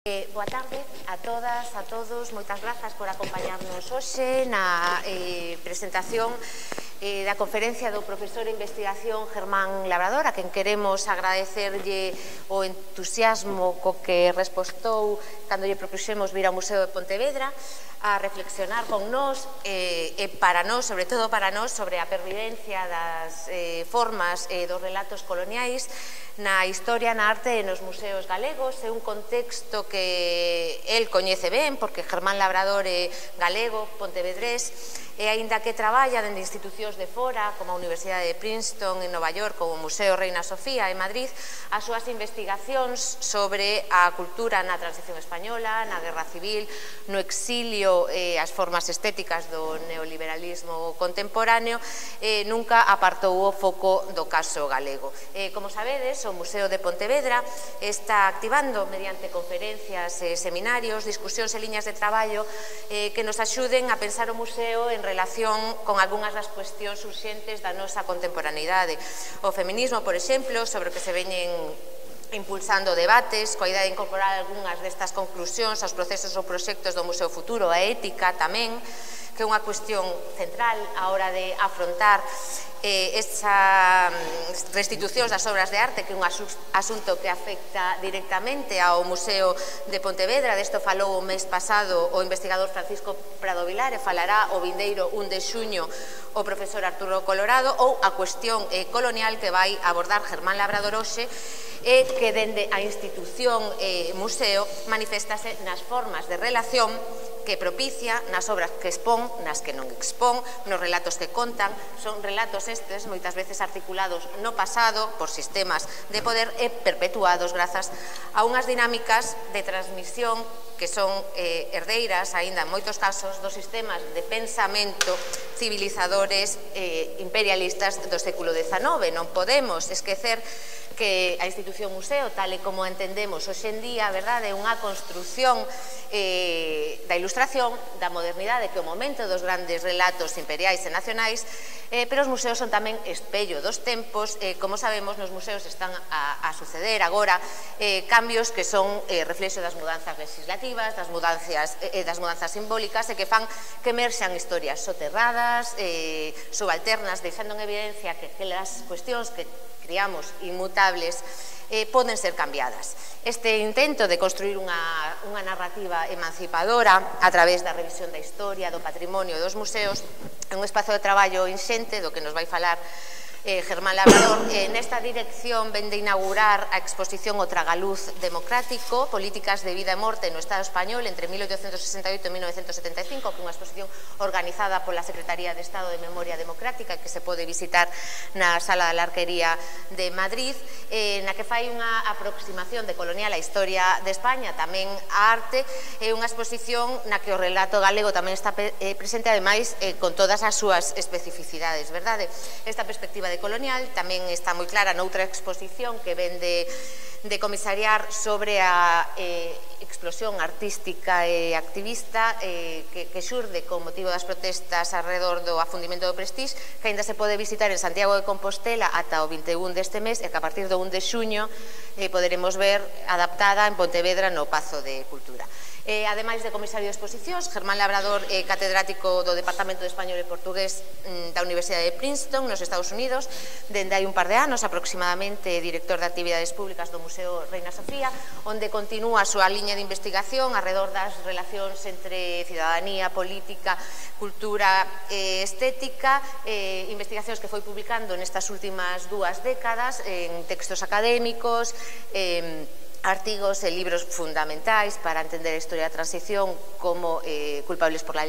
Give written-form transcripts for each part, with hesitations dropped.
Boa tarde a todas, a todos. Moitas grazas por acompañarnos hoxe na presentación da conferencia do profesor de investigación Germán Labrador, a quen queremos agradecerlle o entusiasmo co que respostou cando lle propuxemos vir ao Museo de Pontevedra a reflexionar con nós e para nós, sobre todo para nós, sobre a pervivencia das formas dos relatos coloniais na historia, na arte e nos museos galegos. É un contexto que el coñece ben, porque Germán Labrador é galego, pontevedrés, e aínda que traballa dende institucións de fora, como a Universidade de Princeton en Nova York, como o Museo Reina Sofía en Madrid, as súas investigacións sobre a cultura na transición española, na guerra civil, no exilio e as formas estéticas do neoliberalismo contemporáneo, nunca apartou o foco do caso galego. Como sabedes, o Museo de Pontevedra está activando mediante conferencias e seminarios, discusións e liñas de traballo que nos axuden a pensar o museo en relación con algunhas das cuestións urxentes da nosa contemporaneidade. O feminismo, por exemplo, sobre o que se veñen impulsando debates, coa idea de incorporar algunhas destas conclusións aos procesos ou proxectos do Museo Futuro, a ética tamén, que é unha cuestión central á hora de afrontar esa restitucións das obras de arte, que é un asunto que afecta directamente ao Museo de Pontevedra. Desto falou o mes pasado o investigador Francisco Prado Vilar e falará o vindeiro 1 de xuño o profesor Arturo Colorado, ou a cuestión colonial que vai abordar Germán Labrador hoxe, e que dende a institución museo manifestase nas formas de relación que propicia, nas obras que expón, nas que non expón, nos relatos que contan. Son relatos estes moitas veces articulados no pasado por sistemas de poder e perpetuados grazas a unhas dinámicas de transmisión que son herdeiras, aínda en moitos casos, dos sistemas de pensamento civilizadores imperialistas do século XIX. Non podemos esquecer que a institución museo, tal e como entendemos hoxe en día, é unha construción da ilustración, da modernidade, que é o momento dos grandes relatos imperiais e nacionais, pero os museos son tamén espello dos tempos. Como sabemos, nos museos están a suceder agora cambios que son reflexo das mudanzas legislativas, das mudanzas simbólicas, e que fan que emerxan historias soterradas, subalternas, deixando en evidencia que aquelas cuestións que criamos inmutables poden ser cambiadas. Este intento de construir unha narrativa emancipadora a través da revisión da historia, do patrimonio e dos museos é un espazo de traballo inxente do que nos vai falar Germán Labrador. Nesta dirección ven de inaugurar a exposición O Tragaluz Democrático, Políticas de Vida e Morte no Estado Español entre 1868 e 1975, que é unha exposición organizada pola Secretaría de Estado de Memoria Democrática, que se pode visitar na Sala da Larquería de Madrid, na que fai unha aproximación de colonial á historia de España, tamén a arte. É unha exposición na que o relato galego tamén está presente, ademais, con todas as súas especificidades, verdade? Esta perspectiva de colonial tamén está moi clara noutra exposición que ven de comisariar sobre a explosión artística e activista que xurde con motivo das protestas alrededor do afundimento do Prestige, que ainda se pode visitar en Santiago de Compostela ata o 21 deste mes, e que a partir do 1 de xuño poderemos ver adaptada en Pontevedra no Pazo de Cultura. Ademais de comisario de exposicións, Germán Labrador é catedrático do Departamento de Español e Portugués da Universidade de Princeton, nos Estados Unidos, dende hai un par de anos aproximadamente director de actividades públicas do Museo Reina Sofía, onde continúa a súa liña de investigación alrededor das relacións entre cidadanía, política, cultura e estética, investigacións que foi publicando nestas últimas 2 décadas en textos académicos, artigos e libros fundamentais para entender a historia da transición, como Culpables por la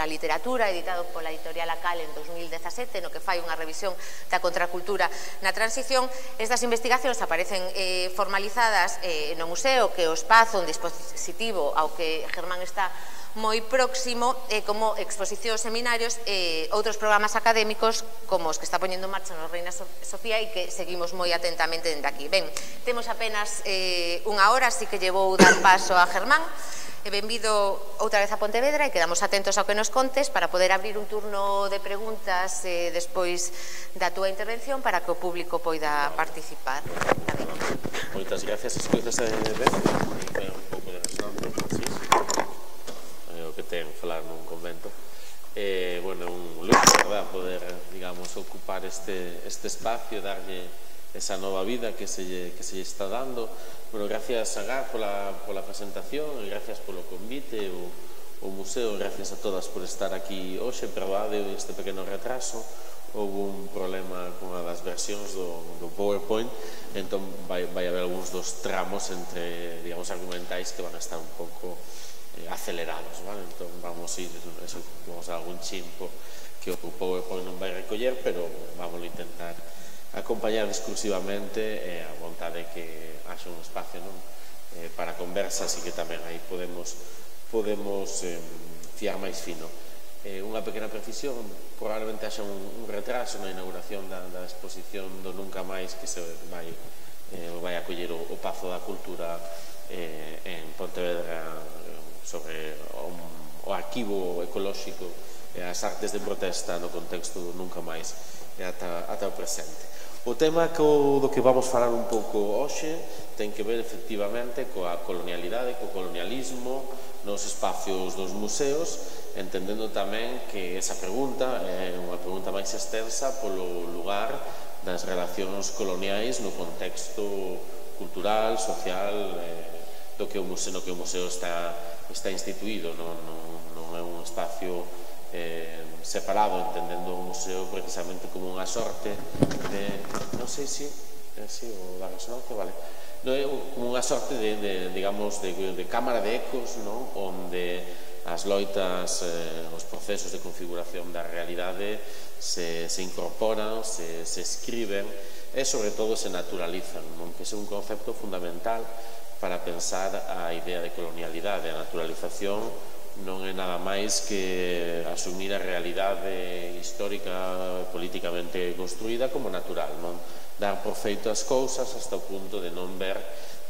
literatura, editado pola editorial Acal en 2017, no que fai unha revisión da contracultura na transición. Estas investigacións aparecen formalizadas no museo, que é o espazo, un dispositivo ao que Germán está moi próximo, como exposicións, seminarios e outros programas académicos como os que está poñendo en marcha no Reina Sofía e que seguimos moi atentamente dende aquí. Ben, temos apenas unha hora, así que lle vou dar paso a Germán. Benvido outra vez a Pontevedra e quedamos atentos ao que nos contes para poder abrir un turno de preguntas despois da túa intervención para que o público poida participar. Moitas gracias, escoitas ben, un pouco de o que ten falar nun convento. Bueno, un luxo, verdad, poder, digamos, ocupar este espacio, darlle esa nova vida que se lle está dando. Bueno, gracias a Gar pola presentación e gracias polo convite, o museo, gracias a todas por estar aquí hoxe. Perdade este pequeno retraso, houve un problema con a das versións do PowerPoint, entón vai haber algúns dos tramos entre, digamos, argumentais que van a estar un pouco acelerados, vale? Entón vamos a ir a algún chimpo que o PowerPoint non vai recoller, pero vamos a intentar acompañar discursivamente e a vontade que haxa un espacio para conversas e que tamén aí podemos fiar máis fino. Unha pequena precisión, probablemente haxa un retraso na inauguración da exposición do Nunca Máis que se vai acoller o Pazo da Cultura en Pontevedra sobre o arquivo ecolóxico e as artes de protesta no contexto do Nunca Máis e ata o presente. O tema do que vamos falar un pouco hoxe ten que ver efectivamente coa colonialidade, co colonialismo nos espacios dos museos, entendendo tamén que esa pregunta é unha pregunta máis extensa polo lugar das relacións coloniais no contexto cultural, social, no que o museo está instituído. Non é un espacio separado, entendendo o museo precisamente como unha sorte de, non sei se o da resonancia, vale, non é como unha sorte de digamos, de cámara de ecos, onde as loitas, os procesos de configuración da realidade se incorporan, se escriben e sobre todo se naturalizan, que é un concepto fundamental para pensar a idea de colonialidade. A naturalización non é nada máis que asumir a realidade histórica políticamente construída como natural, non dar por feito as cousas hasta o punto de non ver,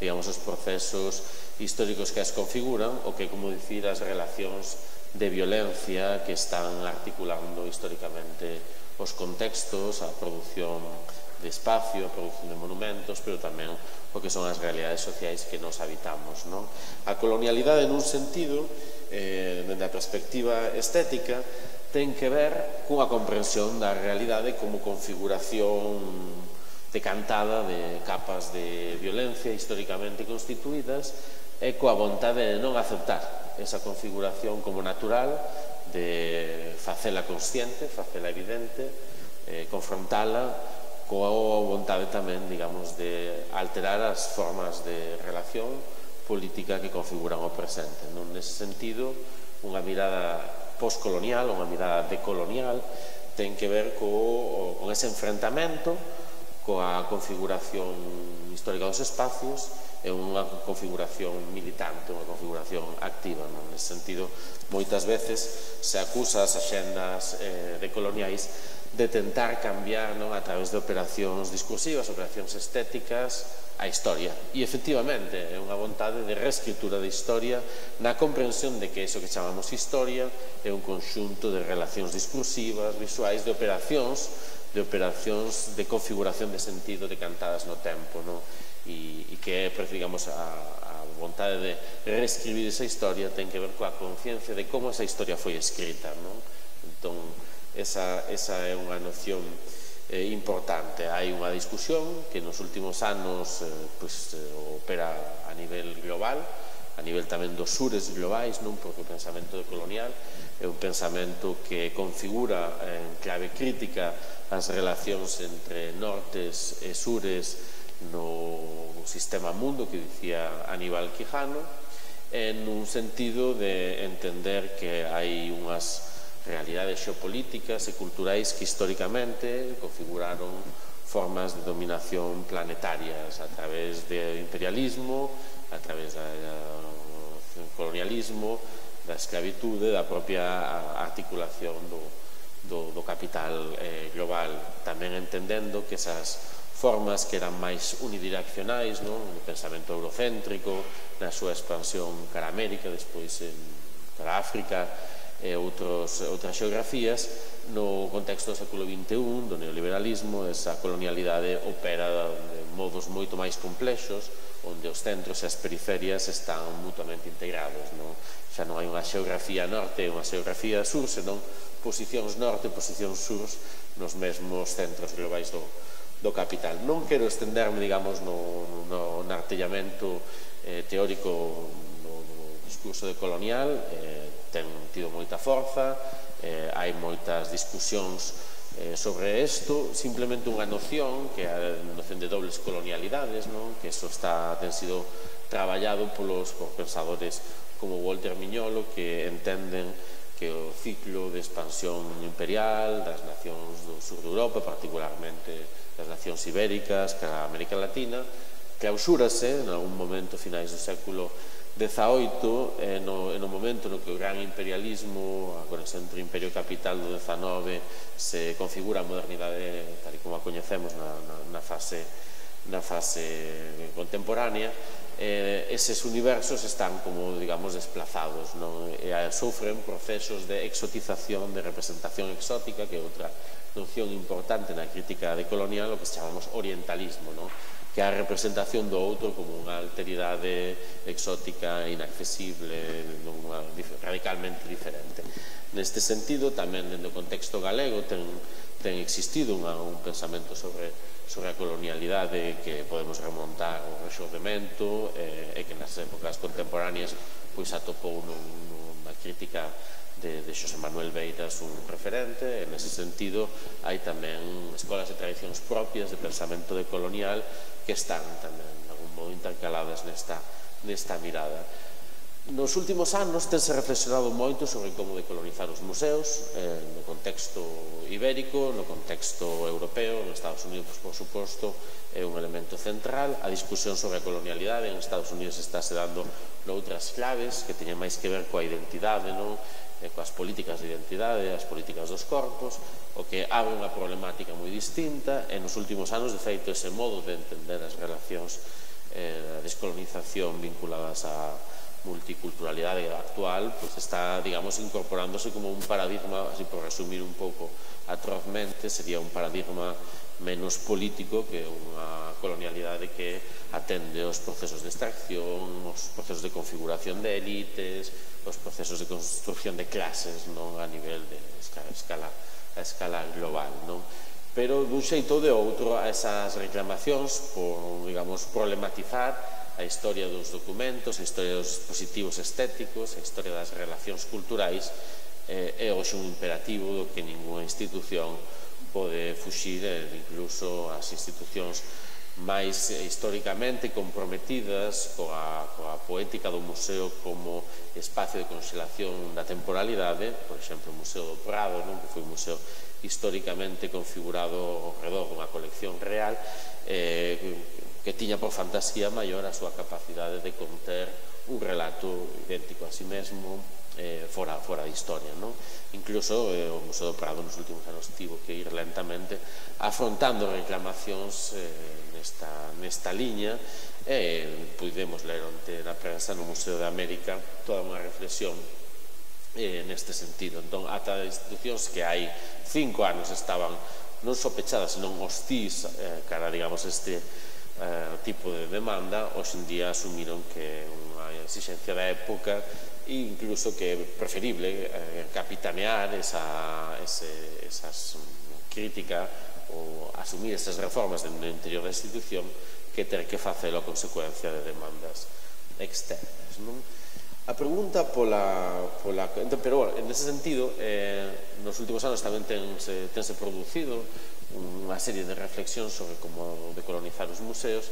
digamos, os procesos históricos que as configuran ou que, como dicir, as relacións de violencia que están articulando históricamente os contextos, a produción de espacio, a produción de monumentos, pero tamén o que son as realidades sociais que nos habitamos. A colonialidade, nun sentido, dende a perspectiva estética, ten que ver cunha comprensión da realidade como configuración decantada de capas de violencia históricamente constituídas e coa vontade de non aceptar esa configuración como natural, de facela consciente, facela evidente, confrontala coa vontade tamén, digamos, de alterar as formas de relación política que configuran o presente. Nese sentido, unha mirada postcolonial, unha mirada decolonial, ten que ver con ese enfrentamento coa configuración histórica dos espacios e unha configuración militante, unha configuración activa. Nese sentido, moitas veces se acusa as axendas decoloniais de tentar cambiar a través de operacións discursivas, operacións estéticas, a historia. E, efectivamente, é unha vontade de reescritura de historia na comprensión de que iso que chamamos historia é un conxunto de relacións discursivas, visuais, de operacións de configuración de sentido decantadas no tempo, e que, digamos, a vontade de reescribir esa historia ten que ver coa conciencia de como esa historia foi escrita. Entón, esa é unha noción importante. Hai unha discusión que nos últimos anos opera a nivel global, a nivel tamén dos sures globais, porque o pensamento colonial é un pensamento que configura en clave crítica as relacións entre nortes e sures no sistema mundo que dicía Aníbal Quijano, en un sentido de entender que hai unhas realidades xeopolíticas e culturais que históricamente configuraron formas de dominación planetarias a través do imperialismo, a través do colonialismo, da esclavitude, da propia articulación do capital global. Tamén entendendo que esas formas que eran máis unidireccionais, no pensamento eurocéntrico, na súa expansión cara a América, despois cara a África, e outras xeografías, No contexto do século XXI, do neoliberalismo, esa colonialidade opera de modos moito máis complexos, onde os centros e as periferias están mutuamente integrados. Xa non hai unha xeografía norte e unha xeografía sur, senón posicións norte e posicións sur nos mesmos centros globais do capital. Non quero estenderme, digamos, no artellamento teórico do discurso decolonial, ten tido moita forza, hai moitas discusións sobre isto, simplemente unha noción, que é a noción de dobles colonialidades, que iso ten sido traballado por pensadores como Walter Mignolo, que entenden que o ciclo de expansión imperial das nacións do sur de Europa, particularmente das nacións ibéricas, que a América Latina, clausúrase en algún momento finais do século XVIII, no momento no que o gran imperialismo, a conexión entre imperio e capital do XIX se configura a modernidade tal e como a coñecemos na fase contemporánea, eses universos están como, digamos, desplazados, e sofren procesos de exotización, de representación exótica, que é outra noción importante na crítica decolonial, o que chamamos orientalismo, que é a representación do outro como unha alteridade exótica, inaccesible, radicalmente diferente. Neste sentido, tamén dentro do contexto galego ten existido un pensamento sobre a colonialidade que podemos remontar ao Rexurdimento e que nas épocas contemporáneas atopou nunha crítica de Xosé Manuel Beiras un referente. En ese sentido hai tamén escolas e tradicións propias de pensamento decolonial que están tamén de algún modo intercaladas nesta mirada. Nos últimos anos tense reflexionado moito sobre como decolonizar os museos no contexto ibérico, no contexto europeo. Nos Estados Unidos, por suposto, é un elemento central. A discusión sobre a colonialidade en Estados Unidos estáse dando noutras claves que teñen máis que ver coa identidade, coas políticas de identidade, as políticas dos corpos, o que abre unha problemática moi distinta. E nos últimos anos, de feito, ese modo de entender as relacións da descolonización vinculadas á multiculturalidade actual está, digamos, incorporándose como un paradigma, así por resumir un pouco atrozmente, sería un paradigma menos político que unha colonialidade que atende os procesos de extracción, os procesos de configuración de élites, os procesos de construcción de clases a nivel de escala global. Pero dun xeito ou de outro, esas reclamacións por, digamos, problematizar a historia dos documentos, a historia dos dispositivos estéticos, a historia das relacións culturais, é hoxe un imperativo do que ninguna institución pode fuxir, incluso as institucións máis históricamente comprometidas coa poética do museo como espacio de conxelación da temporalidade. Por exemplo, o Museo do Prado, que foi un museo históricamente configurado ao redor dunha colección real, que tiña por fantasía maior a súa capacidade de conter un relato idéntico a si mesmo fora de historia. Incluso o Museo do Prado nos últimos anos tivo que ir lentamente afrontando reclamacións nesta liña, e pudemos ler onte na prensa no Museo de América toda unha reflexión neste sentido. Entón, ata institucións que hai 5 anos estaban non só pechadas, senón hostís cara, digamos, este tipo de demanda, hoxe en día asumiron que é unha exigencia da época e incluso que é preferible capitanear esas crítica ou asumir esas reformas no interior da institución que ter que facelo a consecuencia de demandas externas. A pregunta pero en ese sentido, nos últimos anos tamén tense producido unha serie de reflexións sobre como decolonizar os museos,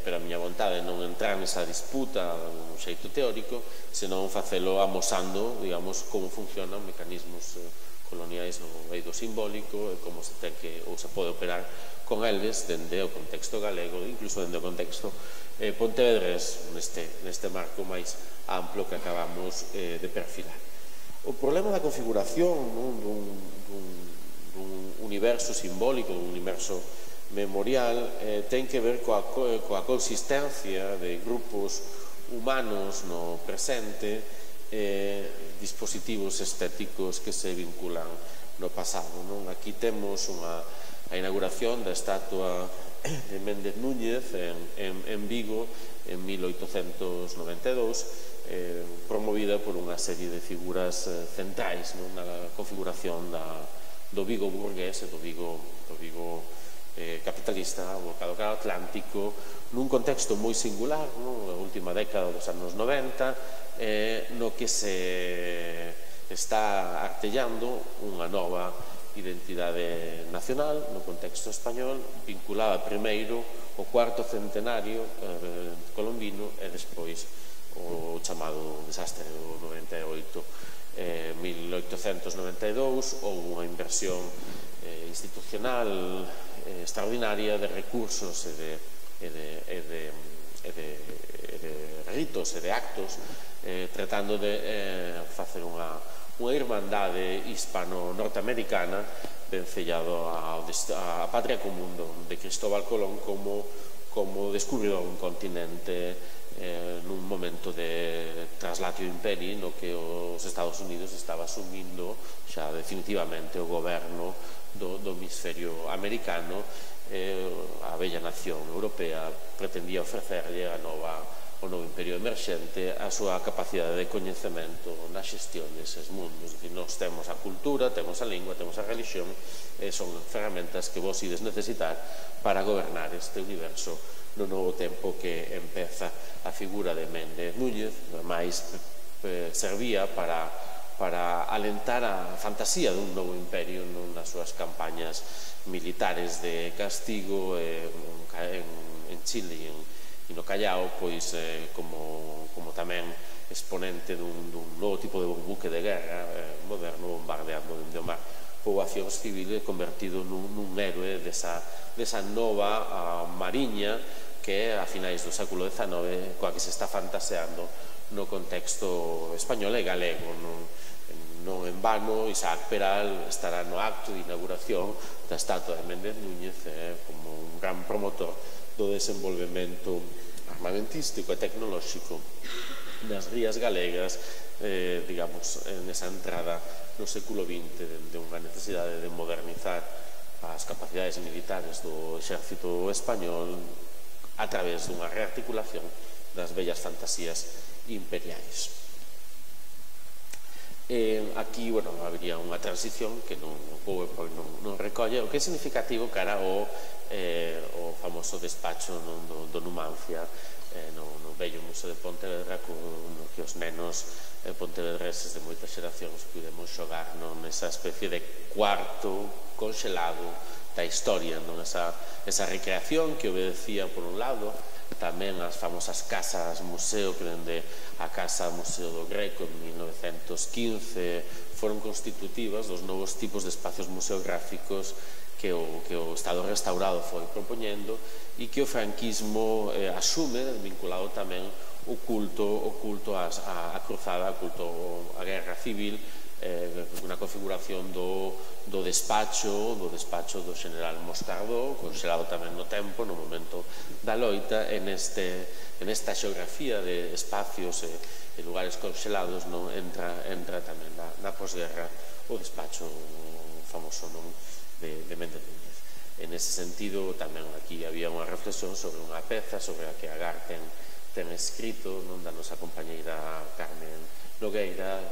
pero a miña vontade non entrar nesa disputa un xeito teórico, senón facelo amosando, digamos, como funcionan mecanismos coloniais no eido simbólico e como se ten que ou se pode operar con eles dende o contexto galego, incluso dende o contexto pontevedrés, neste marco máis amplo que acabamos de perfilar. O problema da configuración dun universo simbólico, dun universo memorial, ten que ver coa consistencia de grupos humanos no presente, dispositivos estéticos que se vinculan pasado. Aquí temos a inauguración da estatua de Méndez Núñez en Vigo en 1892, promovida por unha serie de figuras centrais na configuración do Vigo burgués e do Vigo capitalista, o mercado atlántico, nun contexto moi singular, na última década dos anos 90, no que se está artellando unha nova identidade nacional no contexto español, vinculada primeiro ao cuarto centenario colombino e despois o chamado desastre do 98. 1892 houve unha inversión institucional extraordinaria de recursos e de ritos e de actos, tratando de facer unha irmandade hispano-norteamericana vencellado á patria común de Cristóbal Colón como descubridor dun continente nun momento de traslatio imperi no que os Estados Unidos estaba asumindo xa definitivamente o goberno do hemisferio americano. A bella nación europea pretendía ofrecerlle o novo imperio emerxente a súa capacidade de coñecemento na xestión deses mundos. Nós temos a cultura, temos a lingua, temos a religión, son ferramentas que vos ides necesitar para gobernar este universo no novo tempo que empeza. A figura de Méndez Núñez máis servía para alentar a fantasía dun novo imperio nas súas campañas militares de castigo en Chile e no Callao, pois como tamén exponente dun novo tipo de buque de guerra moderno bombardeando dende o mar poboacións civiles, convertido nun héroe desa nova mariña que a finais do século XIX coa que se está fantaseando no contexto español e galego. Non en vano, Isaac Peral estará no acto de inauguración da estatua de Méndez Núñez como un gran promotor do desenvolvemento armamentístico e tecnolóxico das rías galegas, digamos, nesa entrada no século XX de unha necesidade de modernizar as capacidades militares do exército español a través dunha rearticulación das bellas fantasías imperiais. Aquí, habría unha transición que o PowerPoint non recolle, o que é significativo cara ao famoso despacho do Numancia no bello Museo de Pontevedra, no que os nenos pontevedreses de moitas xeracións pudemos xogar nesa especie de cuarto conxelado da historia, esa recreación que obedecía por un lado tamén as famosas casas museo que dende a Casa Museo do Greco en 1915 foron constitutivas dos novos tipos de espacios museográficos que o Estado restaurado foi propoñendo e que o franquismo asume, vinculado tamén o culto á cruzada, o culto á guerra civil, unha configuración do despacho do general Moscardó, conxelado tamén no tempo, no momento da loita. En esta xeografía de espacios e lugares conxelados entra tamén na posguerra o despacho famoso de Méndez Núñez. En ese sentido, tamén aquí había unha reflexión sobre unha peza sobre a que Agar ten escrito da nosa compañeira Carmen Nogueira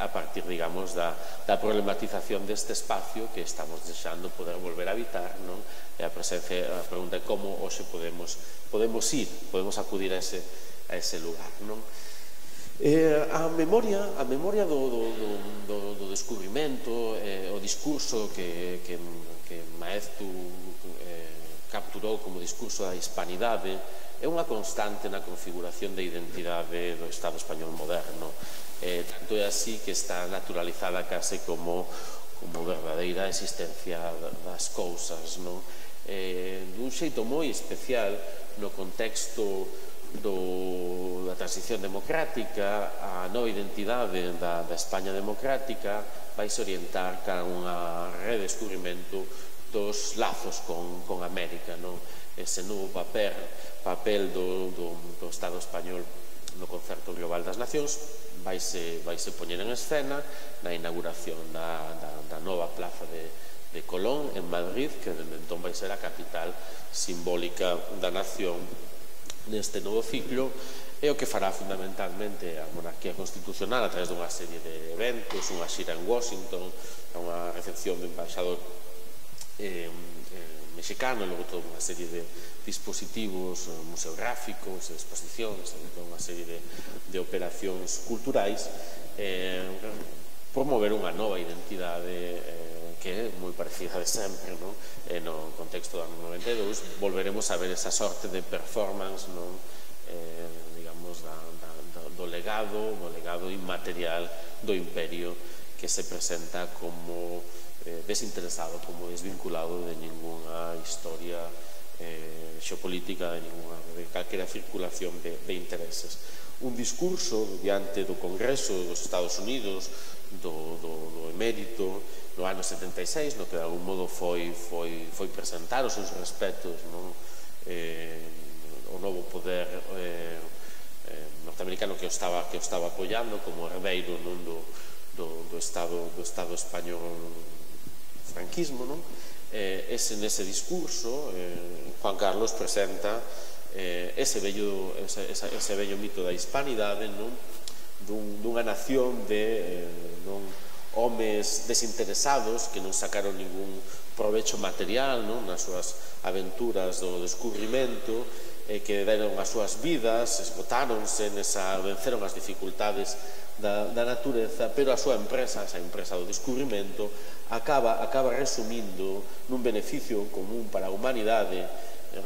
a partir, digamos, da problematización deste espacio que estamos desexando poder volver a habitar, e a pregunta é como hoxe podemos acudir a ese lugar. A memoria do descubrimento, o discurso que Maeztu capturou como discurso da hispanidade é unha constante na configuración da identidade do Estado español moderno. Tanto é así que está naturalizada case como verdadeira existencia das cousas, dun xeito moi especial no contexto da transición democrática. A nova identidade da España democrática vai se orientar cara a unha redescubrimento dos lazos con América, ese novo papel do Estado español no Concerto Global das Nacións, vaise poñer en escena na inauguración da nova plaza de Colón en Madrid, que dende entón vai ser a capital simbólica da nación neste novo ciclo, e o que fará fundamentalmente a monarquía constitucional a través dunha serie de eventos, unha xira en Washington, unha recepción do embaixador mexicano, e logo toda unha serie de dispositivos museográficos, exposicións, unha serie de operacións culturais, promover unha nova identidade que é moi parecida de sempre, no contexto do ano 92 volveremos a ver esa sorte de performance, digamos, do legado inmaterial do imperio, que se presenta como desinteresado, como desvinculado de ninguna historia xeopolítica, de calquera circulación de intereses. Un discurso diante do Congreso dos Estados Unidos do emérito no ano 76, no que de algún modo foi presentar os seus respetos o novo poder norteamericano que o estaba apoiando como herdeiro do Estado español franquismo. Nese discurso Juan Carlos presenta ese bello mito da hispanidade, dunha nación de homes desinteresados que non sacaron ningún provecho material nas súas aventuras do descubrimento, que deron as súas vidas, esgotáronse venceron as dificultades da natureza, pero a súa empresa, esa empresa do descubrimento, acaba resumindo nun beneficio común para a humanidade,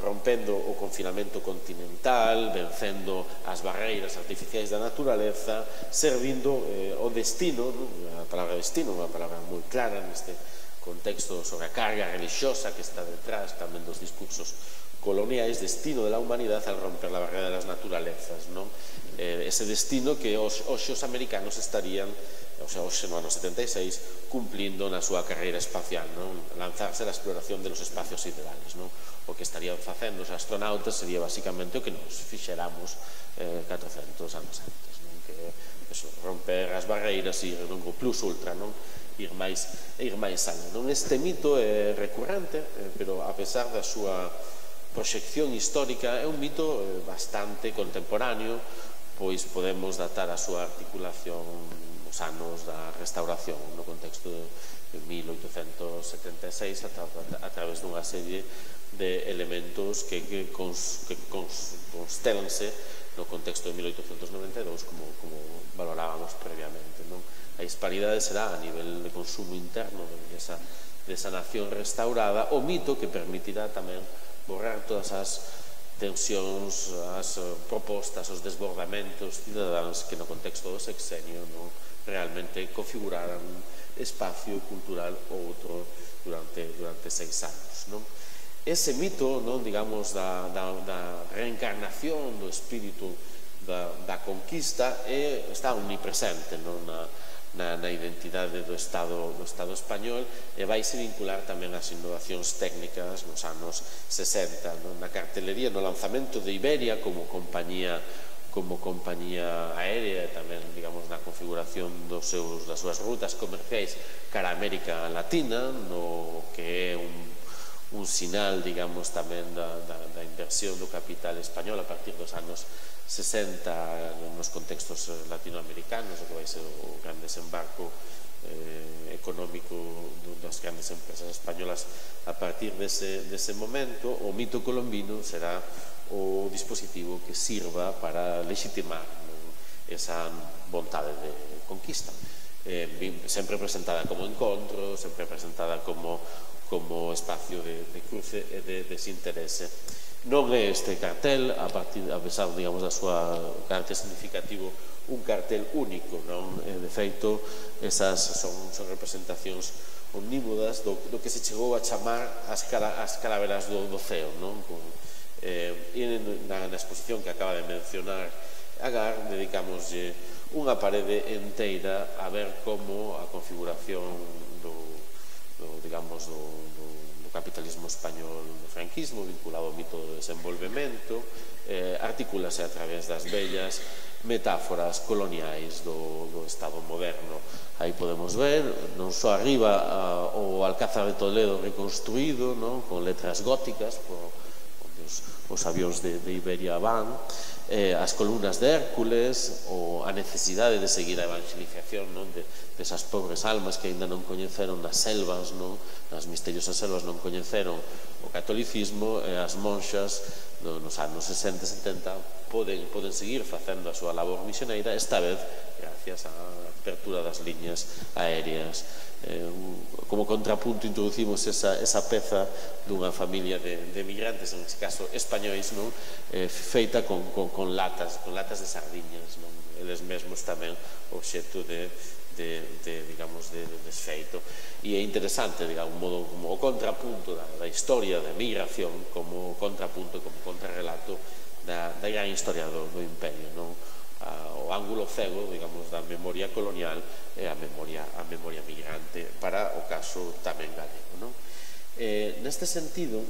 rompendo o confinamento continental, vencendo as barreiras artificiais da naturaleza, servindo o destino, a palabra destino, unha palabra moi clara neste contexto sobre a carga religiosa que está detrás tamén dos discursos coloniais, destino de la humanidade al romper la barrera de las naturalezas, ese destino que hoxe os americanos estarían, hoxe no ano 76, cumplindo na súa carreira espacial, lanzarse a exploración de los espacios siderales. O que estarían facendo os astronautas sería basicamente o que nos fixeramos 400 anos antes, que romper as barreiras e ir no plus ultra, ir máis alá. Este mito é recurrente, pero a pesar da súa proxección histórica, é un mito bastante contemporáneo, pois podemos datar a súa articulación nos anos da restauración, no contexto de 1876, a través dunha serie de elementos que constelanse no contexto de 1892, como valorábamos previamente. A disparidade será a nivel de consumo interno desa nación restaurada, o mito que permitirá tamén borrar todas as tensións, as propostas, os desbordamentos cidadáns que no contexto do sexenio realmente configuraran espacio cultural outro durante 6 anos. Ese mito, digamos, da reencarnación do espírito da conquista está omnipresente na identidade do Estado español, e vaise vincular tamén as innovacións técnicas nos anos 60, na cartelería, no lanzamento de Iberia como compañía aérea, e tamén, digamos, na configuración das súas rutas comerciais cara a América Latina, no que é un sinal, digamos, tamén da inversión do capital español a partir dos anos 60 nos contextos latinoamericanos, o que vai ser o gran desembarco económico das grandes empresas españolas a partir dese momento. O mito colombino será o dispositivo que sirva para legitimar esa vontade de conquista, sempre presentada como encontro, sempre presentada como espacio de cruce e de desinterese. Non é este cartel, a pesar, digamos, da súa carácter significativo, un cartel único, de feito, esas son representacións omnímodas do que se chegou a chamar as calaveras do ceo, e na exposición que acaba de mencionar Agar, dedicámoslle unha parede enteira a ver como a configuración do capitalismo español do franquismo, vinculado ao mito do desenvolvemento, articúlase a través das bellas metáforas coloniais do Estado moderno. Aí podemos ver, non só arriba, o Alcázar de Toledo reconstruído, con letras góticas, onde os avións de Iberia van, as columnas de Hércules, ou a necesidade de seguir a evangelización desas pobres almas que ainda non coñeceron nas selvas, nas misteriosas selvas non coñeceron o catolicismo, e as monxas nos anos 60 e 70 poden seguir facendo a súa labor misioneira, esta vez gracias á apertura das liñas aéreas. Como contrapunto introducimos esa peza dunha familia de migrantes, en este caso españois, feita con latas de sardiñas, eles mesmos tamén obxecto de desfeito. E é interesante, digamos, como o contrapunto da historia da migración, como contrapunto, como contrarrelato da gran historia do imperio, o ángulo cego, digamos, da memoria colonial e a memoria migrante para o caso tamén galego. Neste sentido,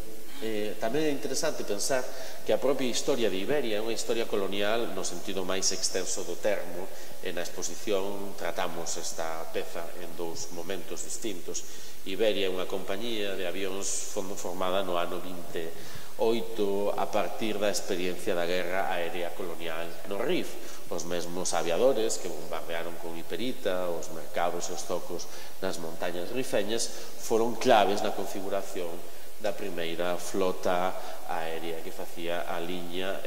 tamén é interesante pensar que a propia historia de Iberia é unha historia colonial no sentido máis extenso do termo. Na exposición tratamos esta peza en dous momentos distintos. Iberia é unha compañía de avións formada no ano 28 a partir da experiencia da guerra aérea colonial no Rif. Os mesmos aviadores que bombardearon con hiperita os mercados e os zocos nas montañas rifeñas foron claves na configuración da primeira flota aérea que facía a liña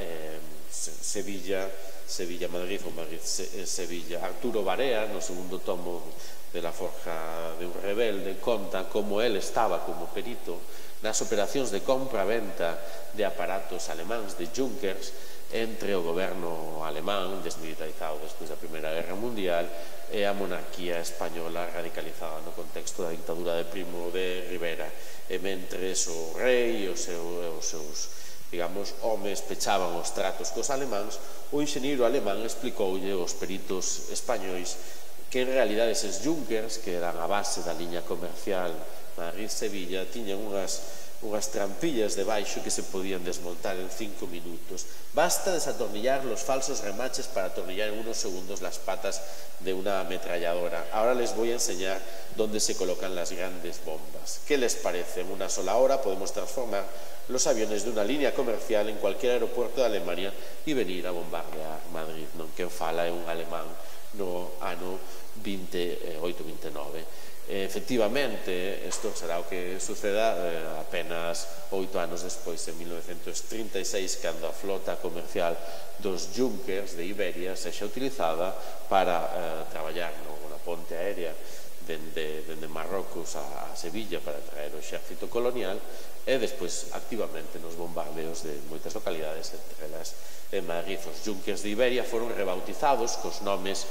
Sevilla-Madrid ou Madrid-Sevilla. Arturo Barea, no segundo tomo de La Forja de un Rebelde, conta como el estaba como perito nas operacións de compra-venta de aparatos alemáns, de Junkers, entre o goberno alemán, desmilitarizado despois da Primeira Guerra Mundial, e a monarquía española radicalizada no contexto da dictadura de Primo de Rivera. E mentres o rei e os seus, digamos, homes pechaban os tratos cos alemáns, o enxeñeiro alemán explicoulle aos peritos españois que en realidade eses Junkers, que eran a base da liña comercial Madrid-Sevilla, tiñan unhas trampillas debaixo que se podían desmontar en 5 minutos. Basta desatornillar los falsos remaches para atornillar en unos segundos las patas de una ametralladora. Ahora les voy a enseñar dónde se colocan las grandes bombas. ¿Qué les parece? En una sola hora podemos transformar los aviones de una línea comercial en cualquier aeropuerto de Alemania y venir a bombardear Madrid. Non quen fala é un alemán no ano 28-29. Efectivamente, isto será o que suceda apenas 8 anos despois, en 1936, cando a flota comercial dos Junkers de Iberia sexa utilizada para traballar na ponte aérea dende Marrocos a Sevilla para traer o exército colonial e despois activamente nos bombardeos de moitas localidades, entre elas en Madrid. Os Junkers de Iberia foron rebautizados cos nomes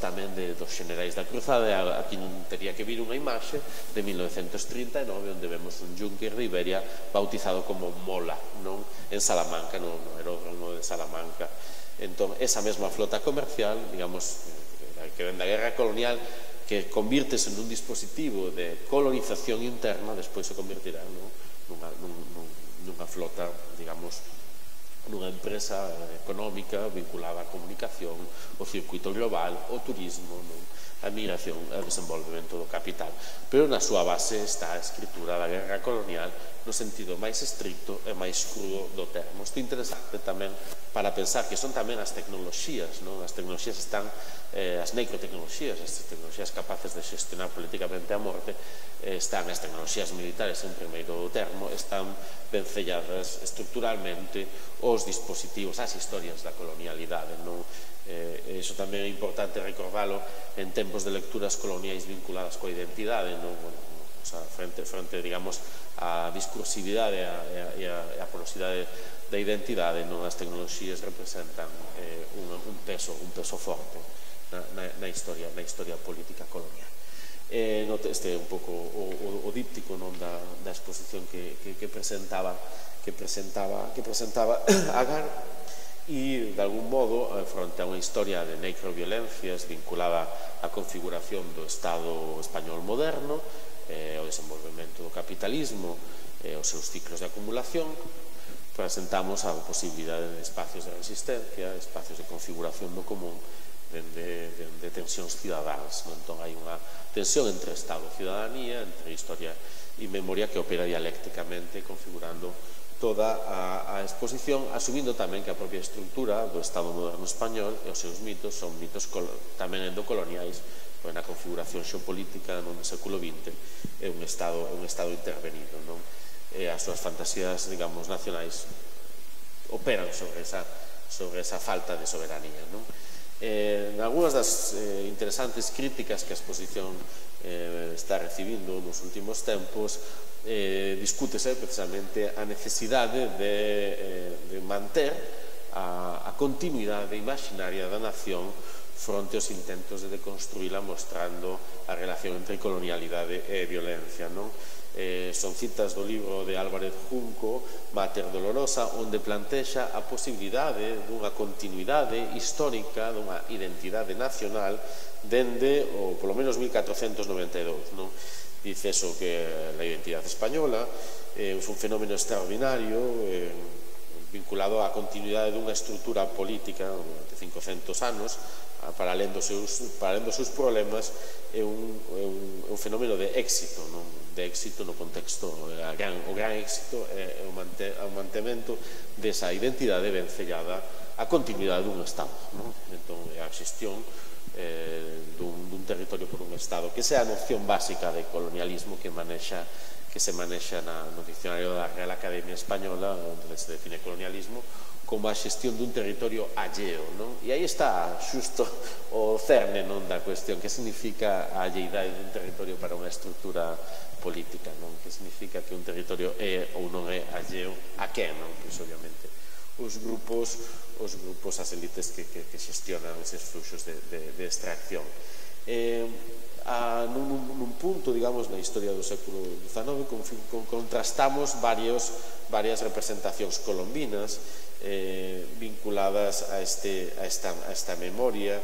tamén dos generais da cruzada. Aquí non tería que vir unha imaxe de 1939 onde vemos un Junker de Iberia bautizado como Mola, en Salamanca, no aeródromo de Salamanca. Entón, esa mesma flota comercial, digamos, que ven da guerra colonial, que convírtese nun dispositivo de colonización interna, despois se convertirá nunha flota, digamos, nunha empresa económica vinculada á comunicación, o circuito global, o turismo, a migración e o desenvolvemento do capital. Pero na súa base está a escritura da guerra colonial no sentido máis estricto e máis crudo do termo. Isto é interesante tamén para pensar que son tamén as tecnoloxías, as tecnoloxías están, as necrotecnoloxías, as tecnoloxías capaces de xestionar políticamente a morte, están as tecnoloxías militares en primeiro termo, están vencelladas estructuralmente os dispositivos, as historias da colonialidade. Iso tamén é importante recordalo en tempos de lecturas coloniais vinculadas coa identidade, frente, digamos, a discursividade e a porosidade da identidade, as tecnoloxías representan un peso forte na historia política colonial. Este é un pouco o díptico da exposición que presentaba Agar, e de algún modo, fronte a unha historia de necroviolencias vinculada á configuración do Estado español moderno, o desenvolvemento do capitalismo e os seus ciclos de acumulación, presentamos a posibilidade de espacios de resistencia, espacios de configuración do común, de tensións cidadáns. Entón, hai unha tensión entre Estado e ciudadanía, entre historia e memoria que opera dialécticamente, configurando toda a exposición, asumindo tamén que a propia estructura do Estado moderno español e os seus mitos son mitos tamén endocoloniais, na configuración xeopolítica no século XX é un Estado intervenido, non? E as súas fantasías, digamos, nacionais operan sobre esa falta de soberanía, non? Algúnas das interesantes críticas que a exposición está recibindo nos últimos tempos discútese precisamente a necesidade de manter a continuidade imaginaria da nación fronte aos intentos de deconstruíla, mostrando a relación entre colonialidade e violencia, non? Son citas do libro de Álvarez Junco, Mater Dolorosa, onde plantexa a posibilidade dunha continuidade histórica, dunha identidade nacional dende, polo menos, 1492, non? Dice eso, que a identidade española é un fenómeno extraordinario vinculado á continuidade dunha estrutura política de 500 anos, para alén dos seus problemas, é un fenómeno de éxito, de éxito no contexto, o gran éxito é o mantemento desa identidade vencellada á continuidade dun Estado. Entón, a xestión dun territorio por un Estado, que esa é a noción básica de colonialismo que se manexa no dicionario da Real Academia Española, onde se define colonialismo como a xestión dun territorio alleo, non? E aí está xusto o cerne, non, da cuestión, que significa a alleidade dun territorio para unha estrutura política, non? Que significa que un territorio é ou non é alleo a quen, non? Pois obviamente os grupos, as élites que xestionan eses fluxos de extracción. Nun punto, digamos, na historia do século XIX contrastamos varias representacións colombinas vinculadas a esta memoria,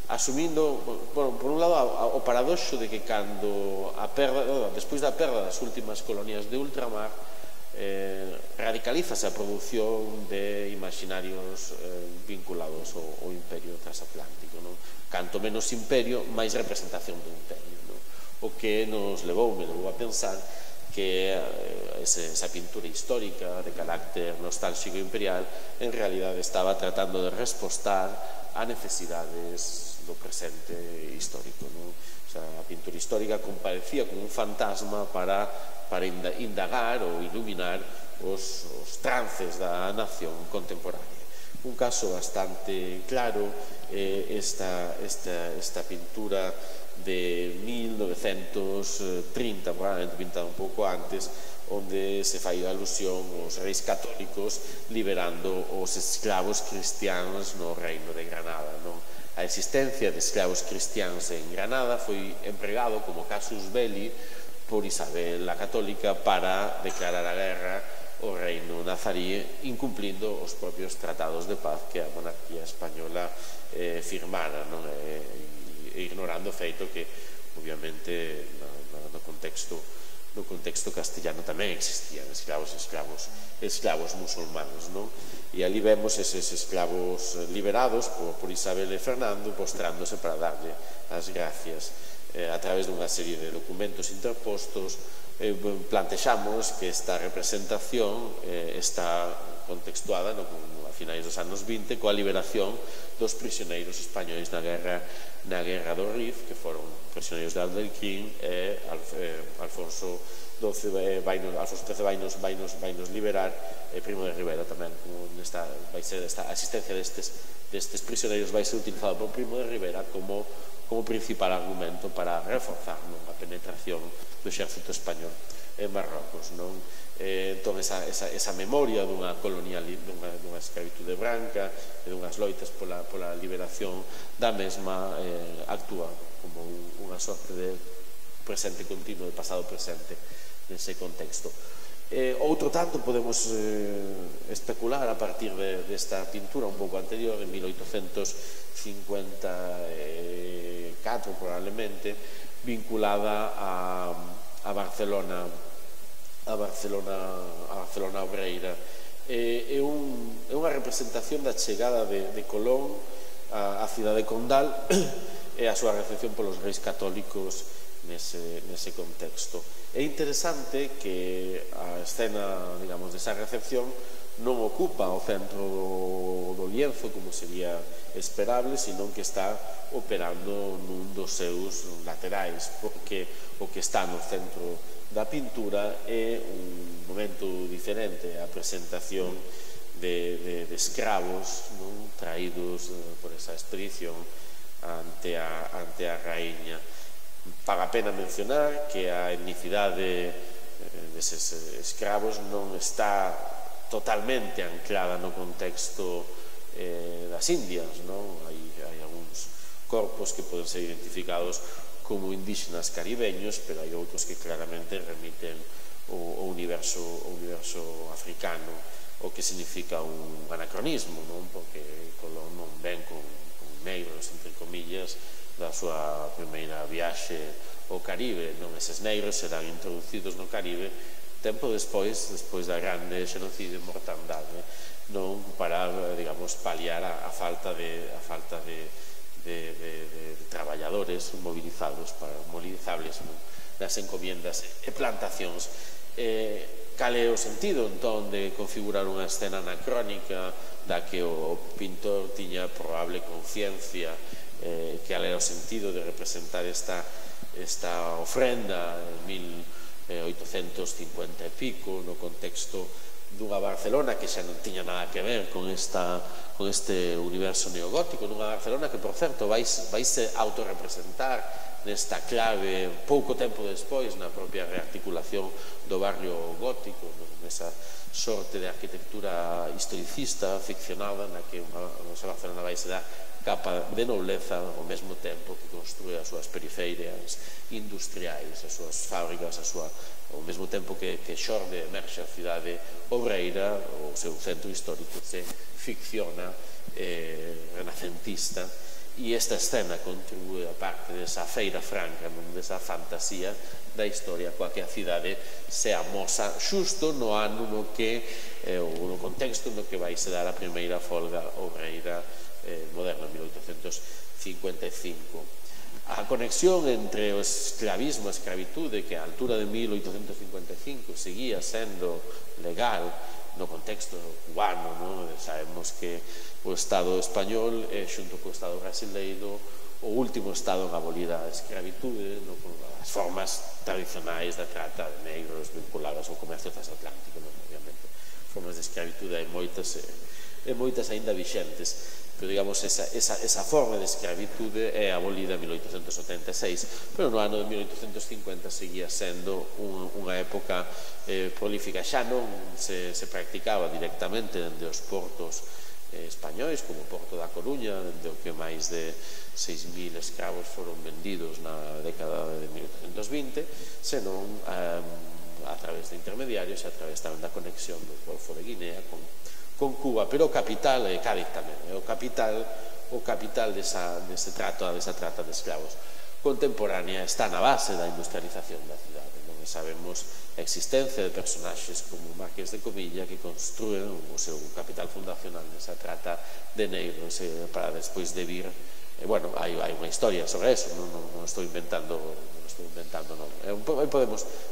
asumindo, por un lado, o paradoxo de que despois da perda das últimas colonias de ultramar, radicalízase a produción de imaginarios vinculados ao imperio transatlántico, non? Canto menos imperio, máis representación do imperio, non? O que me levou a pensar que esa pintura histórica de carácter nostálxico imperial en realidade estaba tratando de respostar a necesidades do presente histórico, non? O sea, a pintura histórica comparecía como un fantasma para indagar ou iluminar os trances da nación contemporánea. Un caso bastante claro é esta pintura de 1930, probablemente pintada un pouco antes, onde se fai alusión aos reis católicos liberando os esclavos cristianos no reino de Granada, non? A existencia de esclavos cristianos en Granada foi empregado como casus belli por Isabel la Católica para declarar a guerra ao reino nazarí, incumplindo os propios tratados de paz que a monarquía española firmara, non? Ignorando o feito que, obviamente, no contexto castellano tamén existían esclavos musulmanos, non? E ali vemos eses esclavos liberados por Isabel e Fernando postrándose para darlle as gracias a través dunha serie de documentos interpostos. Plantexamos que esta representación está contextuada a finais dos anos 20 coa liberación dos prisioneiros españoles na guerra do Rif, que foron prisioneiros de Aldelquín, e Alfonso XIII vainos liberar, e Primo de Rivera tamén, vai ser a existencia destes prisioneiros vai ser utilizado por Primo de Rivera como principal argumento para reforzar a penetración do exército español en Marrocos, non? Entón, esa memoria dunha escravitude branca e dunhas loitas pola liberación da mesma actúa como unha sorte de presente continuo, de pasado presente nese contexto. Outro tanto podemos especular a partir desta pintura un pouco anterior, en 1854 probablemente, vinculada a a Barcelona obreira. É unha representación da chegada de Colón á cidade condal e a súa recepción polos reis católicos nese contexto. É interesante que a escena, digamos, desa recepción non ocupa o centro do lienzo como sería esperable, senón que está operando nun dos seus laterais, porque o que está no centro da pintura é un momento diferente, a presentación de escravos traídos por esa expedición ante a raíña. Paga a pena mencionar que a etnicidade deses escravos non está totalmente anclada no contexto das Indias, hai algúns corpos que poden ser identificados como indígenas caribeños, pero hai outros que claramente remiten ao universo africano, o que significa un anacronismo, porque Colón non ven con negros, entre comillas, da súa primeira viaxe ao Caribe. Eses negros serán introducidos no Caribe tempo despois da grande xenocidio e mortandade, para, digamos, paliar a falta de traballadores movilizables nas encomiendas e plantacións. Cal é o sentido, entón, de configurar unha escena anacrónica da que o pintor tiña probable conciencia, cal era o sentido de representar esta ofrenda en 1850 e pico no contexto dunha Barcelona que xa non tiña nada que ver con este universo neogótico, nunha Barcelona que, por certo, vaise autorrepresentar nesta clave pouco tempo despois na propia rearticulación do barrio gótico, nesa sorte de arquitectura historicista ficcionada na que a nosa Barcelona vaise dar capa de nobleza ao mesmo tempo que construe as súas periferias industriais, as súas fábricas, ao mesmo tempo que xorde, emerxe a cidade obreira, o seu centro histórico se ficciona renacentista. E esta escena contribúe a parte desa feira franca, desa fantasía da historia coa que a cidade se amosa xusto no ano no contexto no que vai se dar a primeira folga obreira moderna, 1855. A conexión entre o esclavismo e a escravitude, que a altura de 1855 seguía sendo legal no contexto cubano, sabemos que o Estado español é, xunto co Estado brasileiro, o último Estado en abolir a escravitude, con as formas tradicionais da trata de negros vinculadas ao comercio transatlántico, obviamente. Formas de escravitude hai moitas aínda vixentes, pero, digamos, esa forma de escravitude é abolida en 1876, pero no ano de 1850 seguía sendo unha época prolífica. Xa non se practicaba directamente dende os portos españois, como o Porto da Coruña, dende o que máis de 6.000 escravos foron vendidos na década de 1820, senón a través de intermediarios e a través tamén da conexión do Golfo de Guinea con Cuba, pero o capital é Cádiz tamén, o capital desa trata de escravos contemporánea está na base da industrialización da cidade. Sabemos a existencia de personaxes como o Marqués de Comilla que construen o seu capital fundacional nesa trata de negros para despois de vir, bueno, hai unha historia sobre eso, non estou inventando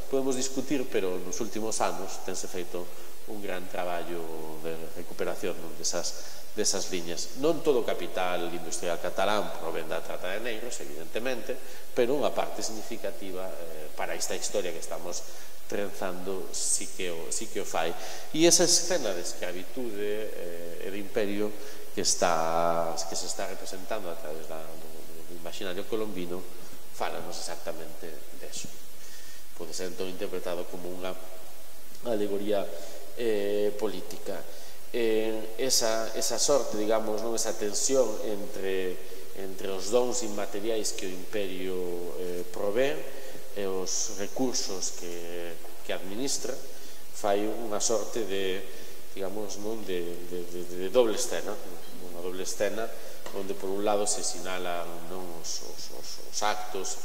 podemos discutir, pero nos últimos anos tense feito un gran traballo de recuperación desas liñas. Non todo o capital industrial catalán provén da trata de negros, evidentemente, pero unha parte significativa para esta historia que estamos trenzando sí que o fai. E esa escena de escravitude e de imperio que se está representando a través do imaginario colombino fálanos exactamente deso. Pode ser entón interpretado como unha alegoría política. Esa sorte, digamos, esa tensión entre os dons inmateriais que o imperio provén e os recursos que administra fai unha sorte de, digamos, de doble escena, unha doble escena onde por un lado se sinalan os actos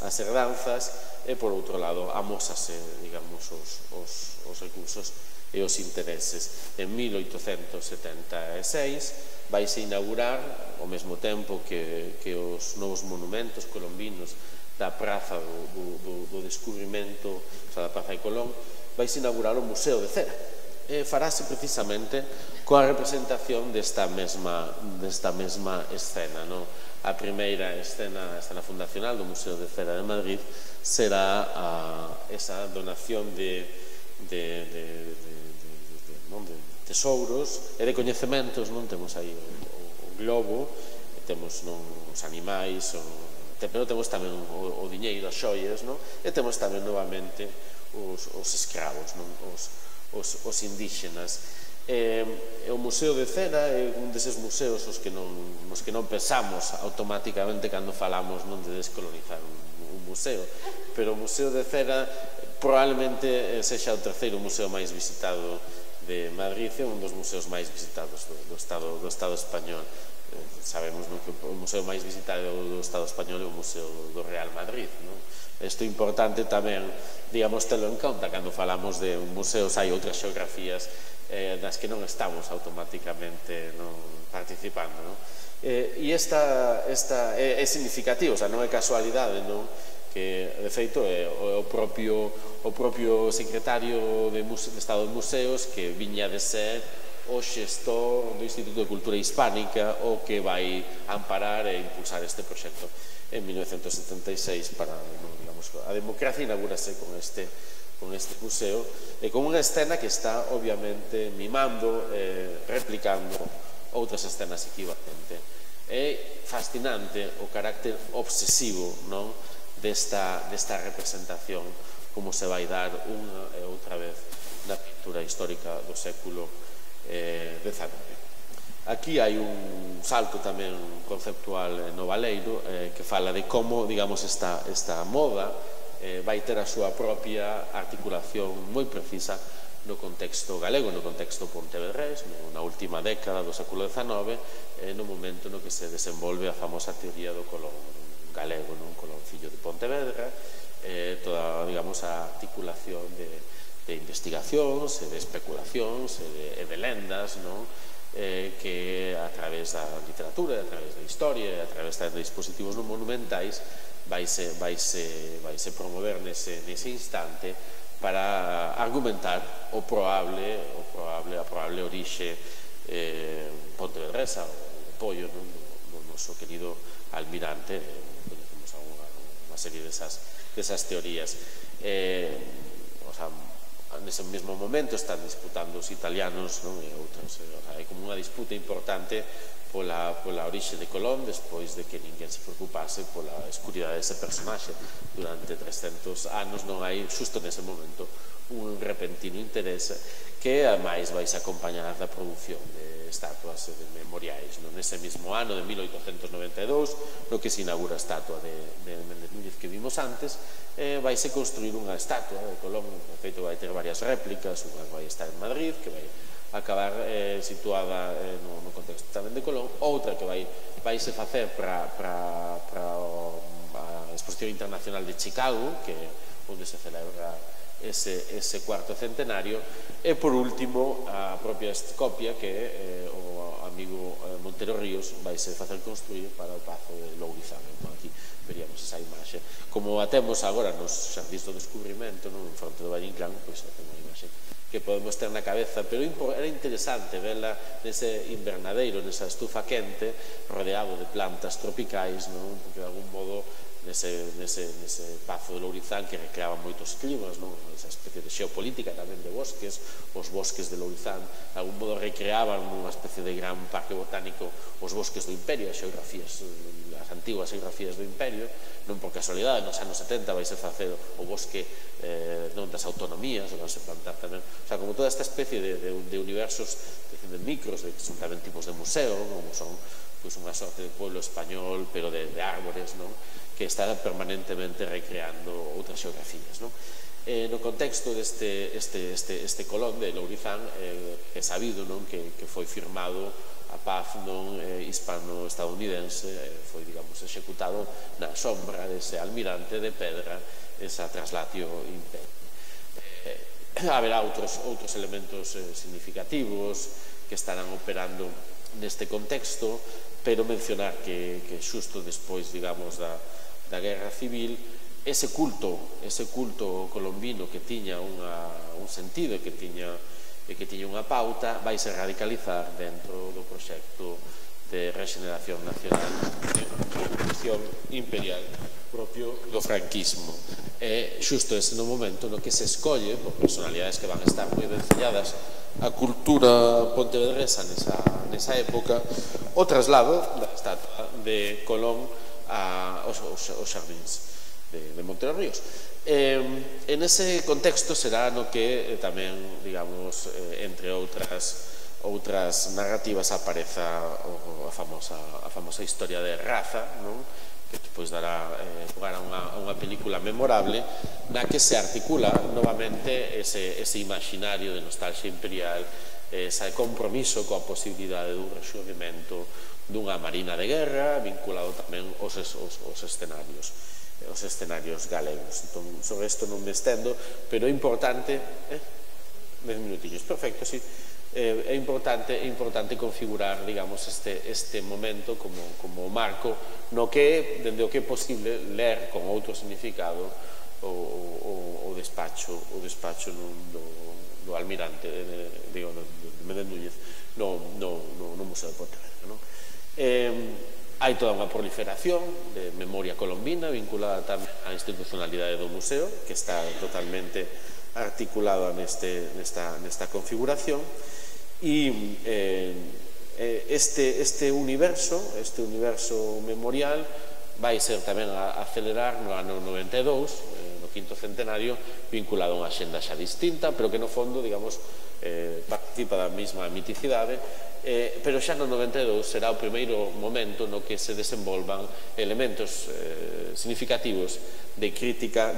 as herdanzas, e por outro lado amósase, digamos, os recursos e os intereses. En 1876 vaise inaugurar, ao mesmo tempo que os novos monumentos colombinos da Praza do Descubrimento, da Praza de Colón, vaise inaugurar o Museo de Cera. E farase precisamente coa representación desta mesma escena. A primeira escena fundacional do Museo de Cera de Madrid será esa donación de tesouros e de coñecementos. Temos aí o globo, temos os animais, pero temos tamén o diñeiro, as xoias, e temos tamén novamente os escravos, os indígenas. O Museo de Cera é un deses museos nos que non pensamos automáticamente cando falamos de descolonizar un museo, pero o Museo de Cera probablemente sexa o terceiro museo máis visitado de Madrid, é un dos museos máis visitados do Estado español. Sabemos que o museo máis visitado do Estado español é o Museo do Real Madrid. Isto é importante tamén, digamos, telo en conta cando falamos de museos. Hai outras xeografías das que non estamos automáticamente participando. E esta é significativo, non é casualidade, que de feito é o propio secretario de Estado de Museos que viña de ser o xestor do Instituto de Cultura Hispánica o que vai amparar e impulsar este proxecto en 1976 para, digamos, a democracia inaugurase con este museo e con unha escena que está obviamente mimando, replicando outras escenas equivalentes. É fascinante o carácter obsesivo desta representación, como se vai dar unha e outra vez na pintura histórica do século XIX. Aquí hai un salto tamén conceptual no Valeiro que fala de como, digamos, esta moda vai ter a súa propia articulación moi precisa no contexto galego, no contexto pontevedrés, na última década do século XIX, no momento no que se desenvolve a famosa teoría do Colón galego, un Coloncillo de Pontevedra, toda, digamos, a articulación de investigacións, de especulacións e de lendas, que a través da literatura, a través da historia, a través de dispositivos monumentais vaise promover nese instante para argumentar a probable orixe pontevedresa, o apoio do noso querido almirante. Conhecemos unha serie desas teorías. Nese mesmo momento están disputando os italianos e outros. Hai como unha disputa importante pola orixe de Colón, despois de que ninguén se preocupase pola escuridade dese personaxe durante 300 anos. Non hai, xusto nese momento, un repentino interese que, ademais, vais acompañar da produción de estatuas e de memoriais. Nese mesmo ano de 1892, no que se inaugura a estatua de Méndez Núñez que vimos antes, vaise construir unha estatua de Colón. De feito, vai ter varias réplicas, unha vai estar en Madrid, que vai acabar situada no contexto tamén de Colón, outra que vaise facer para a Exposición Internacional de Chicago, que onde se celebra ese cuarto centenario, e por último a propia copia que o amigo Montero Ríos vaise facer construir para o Pazo de Lourizán. Aquí veríamos esa imaxe. Como a temos agora nos Xardíns do Descubrimento, en fronte do Valle Inclán, pois é unha imaxe que podemos ter na cabeza, pero era interesante verla nese invernadeiro, nesa estufa quente, rodeado de plantas tropicais, porque de algún modo nese Pazo de Lourizán que recreaba moitos climas, esa especie de xeopolítica tamén de bosques, os bosques de Lourizán de algún modo recreaban unha especie de gran parque botánico os bosques do Imperio, as antiguas xeografías do Imperio. Non por casualidade, nos anos 70 vai se facer o bosque das autonomías, vai se plantar tamén, como toda esta especie de universos de micros, que son tamén tipos de museo, como son unha sorte de pueblo español, pero de árbores, que está permanentemente recreando outras xeografías. No contexto deste Colón de Lourizán, é sabido que foi firmado a paz hispano-estadounidense, foi, digamos, executado na sombra dese almirante de pedra, esa traslatio imperio. Haberá outros elementos significativos que estarán operando neste contexto, pero mencionar que xusto despois, digamos, da Guerra Civil, ese culto colombino que tiña un sentido e que tiña unha pauta, vai se radicalizar dentro do proxecto de regeneración nacional de revolución imperial propio do franquismo. É xusto ese no momento no que se escolle por personalidades que van a estar moi vencelladas a cultura pontevedresa nesa época, o traslado da estatua de Colón aos xardíns de Monte dos Ríos. En ese contexto será no que tamén, digamos, entre outras narrativas apareza a famosa historia de Raza, que despois dará lugar a unha película memorable na que se articula novamente ese imaginario de nostalgia imperial, ese compromiso coa posibilidade dun rexurdimento dunha marina de guerra vinculado tamén aos escenarios galegos. Entón, sobre isto non me estendo, pero é importante 10 minutillos, perfecto, sí. É importante configurar, digamos, este momento como marco no que, dende o que é posible ler con outro significado o despacho do almirante de Méndez Núñez no Museo de Pontevedra. Hai toda unha proliferación de memoria colombina vinculada tamén á institucionalidade do museo, que está totalmente articulada nesta configuración, e este universo memorial vai ser tamén a acelerar no ano 92, no quinto centenario, vinculado a unha xenda xa distinta, pero que no fondo, digamos, participa da mesma miticidade, pero xa no 92 será o primeiro momento no que se desenvolvan elementos significativos de crítica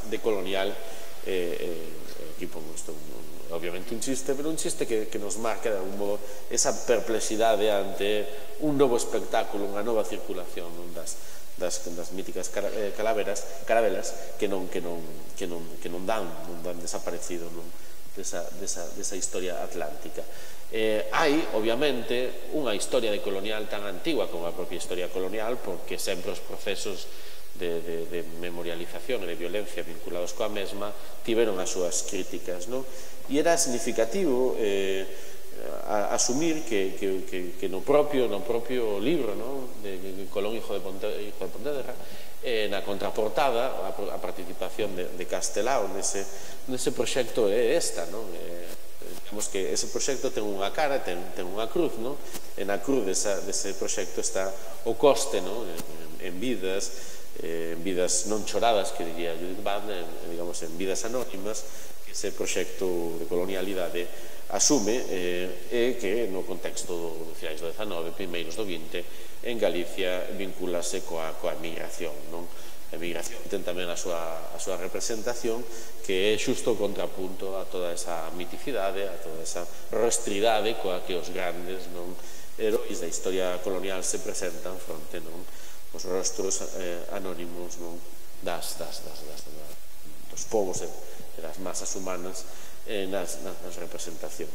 decolonial. Aquí pongo isto, obviamente un chiste, pero un chiste que nos marca de algún modo esa perplexidade ante un novo espectáculo, unha nova circulación das míticas carabelas que non dan desaparecido desa historia atlántica. Hai, obviamente, unha historia decolonial tan antigua como a propia historia colonial, porque sempre os procesos de memorialización e de violencia vinculados coa mesma tiveron as súas críticas, e era significativo asumir que no propio libro de Colón, hijo de Pontevedra, na contraportada a participación de Castelao nese proxecto é esta. Digamos que ese proxecto ten unha cara, ten unha cruz, e na cruz dese proxecto está o coste en vidas non choradas, que diría Judith Butler, digamos, en vidas anónimas, que ese proxecto de colonialidade asume, e que no contexto do finais do XIX, primeiros do XX, en Galicia vincúlase coa emigración. A emigración ten tamén a súa representación, que é xusto o contrapunto a toda esa miticidade, a toda esa rostridade coa que os grandes heróis da historia colonial se presentan fronte os rostros anónimos dos povos e das masas humanas nas representacións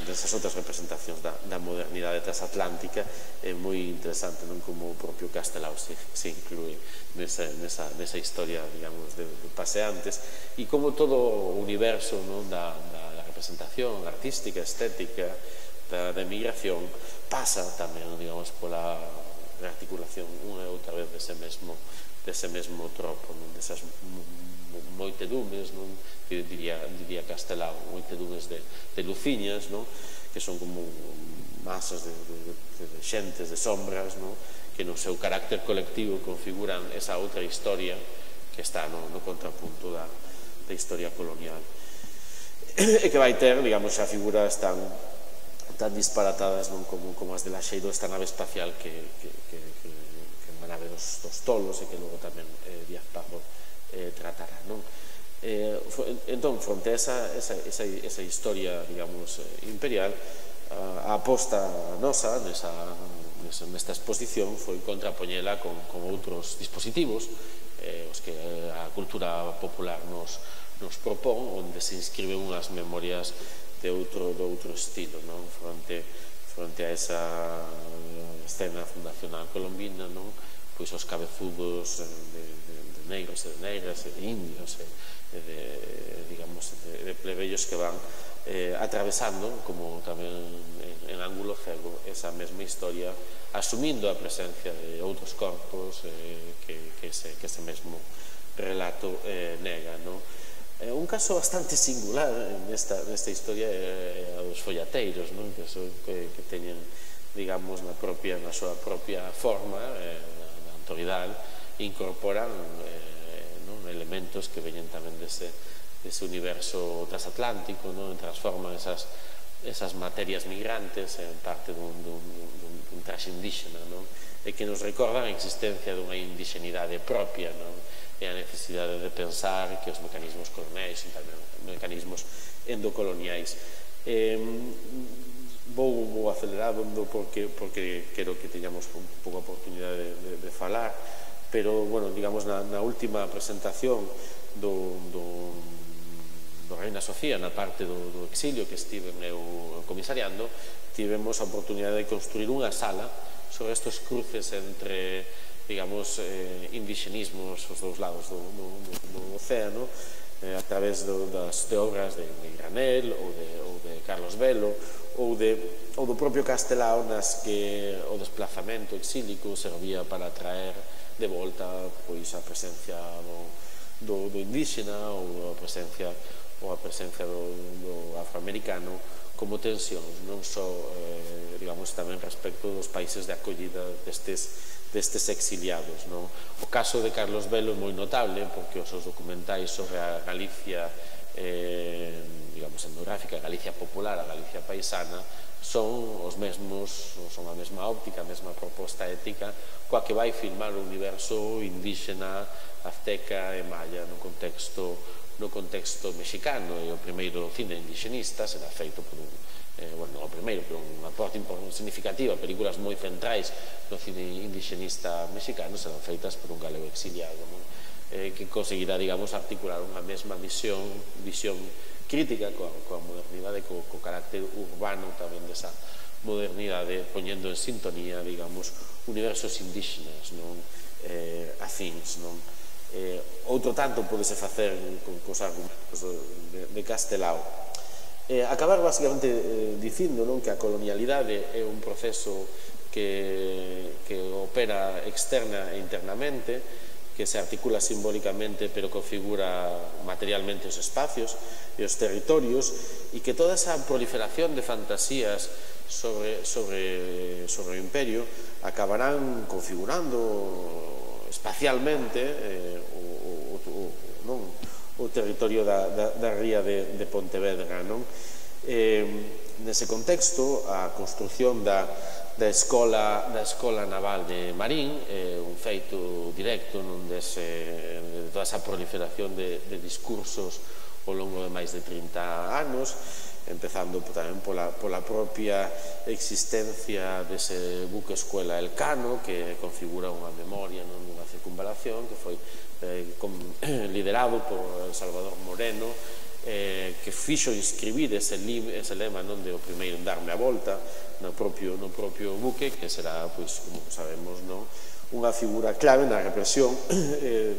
desas outras representacións da modernidade transatlántica. É moi interesante como o propio Castelao se inclúe nesa historia, digamos, de paseantes, e como todo o universo da representación artística, estética da emigración pasa tamén, digamos, pola rearticulación unha e outra vez dese mesmo tropo, desas moitedumes, que diría Castelao, moitedumes de luciñas, que son como masas de xentes, de sombras, que no seu carácter colectivo configuran esa outra historia que está no contrapunto da historia colonial, e que vai ter, digamos, xa figuras tan disparatadas como as de Laxeiro, esta nave espacial que é unha nave dos tolos, e que logo tamén Díaz Pardo tratará, non? Entón, fronte a esa historia, digamos, imperial, a aposta nosa nesta exposición foi contrapoñela con outros dispositivos os que a cultura popular nos propón, onde se inscriben unhas memorias de outro estilo, fronte a esa escena fundacional colombina, pois os cabezudos de negros e de negras e de indios de plebeyos que van atravesando, como tamén en ángulo cego, esa mesma historia, asumindo a presencia de outros corpos que ese mesmo relato nega. Un caso bastante singular nesta historia é a dos follateiros, que teñen, digamos, na súa propia forma, na autoridade, incorporan elementos que veñen tamén dese universo transatlántico, transforman esas materias migrantes en parte dun traxe indígena, e que nos recordan a existencia dunha indigenidade propia, e a necesidade de pensar que os mecanismos coloniais son tamén mecanismos endocoloniais. Vou acelerando porque quero que teñamos un pouco a oportunidade de falar, pero, bueno, digamos, na última presentación do Reina Sofía, na parte do exilio que estive eu comisariando, tivemos a oportunidade de construir unha sala sobre estes cruces entre, digamos, indigenismos os dous lados do océano, a través de obras de Granel ou de Carlos Velo ou do propio Castelao, nas que o desplazamento exílico servía para traer de volta a presencia do indígena ou a presencia do afroamericano como tensións, non só, digamos, tamén respecto dos países de acollida destes exiliados. O caso de Carlos Velo é moi notable porque os seus documentais sobre a Galicia, digamos, etnográfica, a Galicia popular, a Galicia paisana, son os mesmos, son a mesma óptica, a mesma proposta ética coa que vai filmar o universo indígena, azteca e maya no contexto mexicano. E o primeiro cine indigenista será feito por non o primeiro, pero unha parte significativa, películas moi centrais do cine indigenista mexicano serán feitas por un galego exiliado, que conseguirá, digamos, articular unha mesma visión crítica coa modernidade, co carácter urbano tamén desa modernidade, poñendo en sintonía, digamos, universos indígenas afíns. Outro tanto podese facer cos argumentos de Castelao. Acabar basicamente dicindo que a colonialidade é un proceso que opera externa e internamente, que se articula simbólicamente pero configura materialmente os espacios e os territorios, e que toda esa proliferación de fantasías sobre o imperio acabarán configurando espacialmente o territorio da ría de Pontevedra. Nese contexto, a construción da Escola Naval de Marín é un feito directo de toda esa proliferación de discursos ao longo de máis de 30 anos, empezando tamén pola propia existencia dese buque escuela Elcano, que configura unha memoria dunha circunvalación que foi liderado por Salvador Moreno, que fixo inscribir ese lema de o primeiro en darme a volta no propio buque, que será, pois, como sabemos, unha figura clave na represión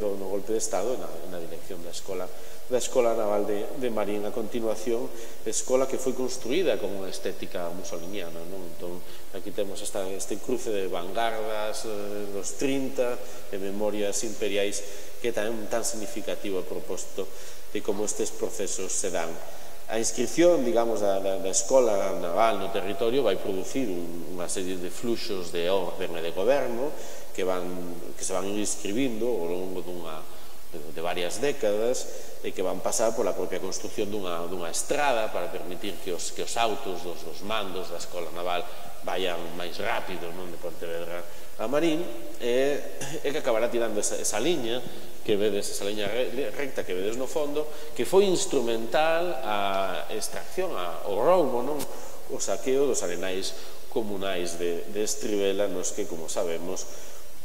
no golpe de Estado e na dirección da Escola Naval de Marín. A continuación, escola que foi construída con unha estética musoliniana. Entón, aquí temos este cruce de vanguardas dos 30 e memorias imperiais que é tan significativo a propósito de como estes procesos se dan. A inscripción, digamos, da Escola Naval no territorio vai producir unha serie de fluxos de orden e de goberno que se van inscribindo ao longo de varias décadas e que van pasar pola propia construcción dunha estrada para permitir que os autos dos mandos da Escola Naval vayan máis rápido de Pontevedra a Marín e que acabará tirando esa liña que vedes, esa liña recta que vedes no fondo, que foi instrumental a extracción, ao roubo, o saqueo dos arenais comunais de Estribela, nos que, como sabemos,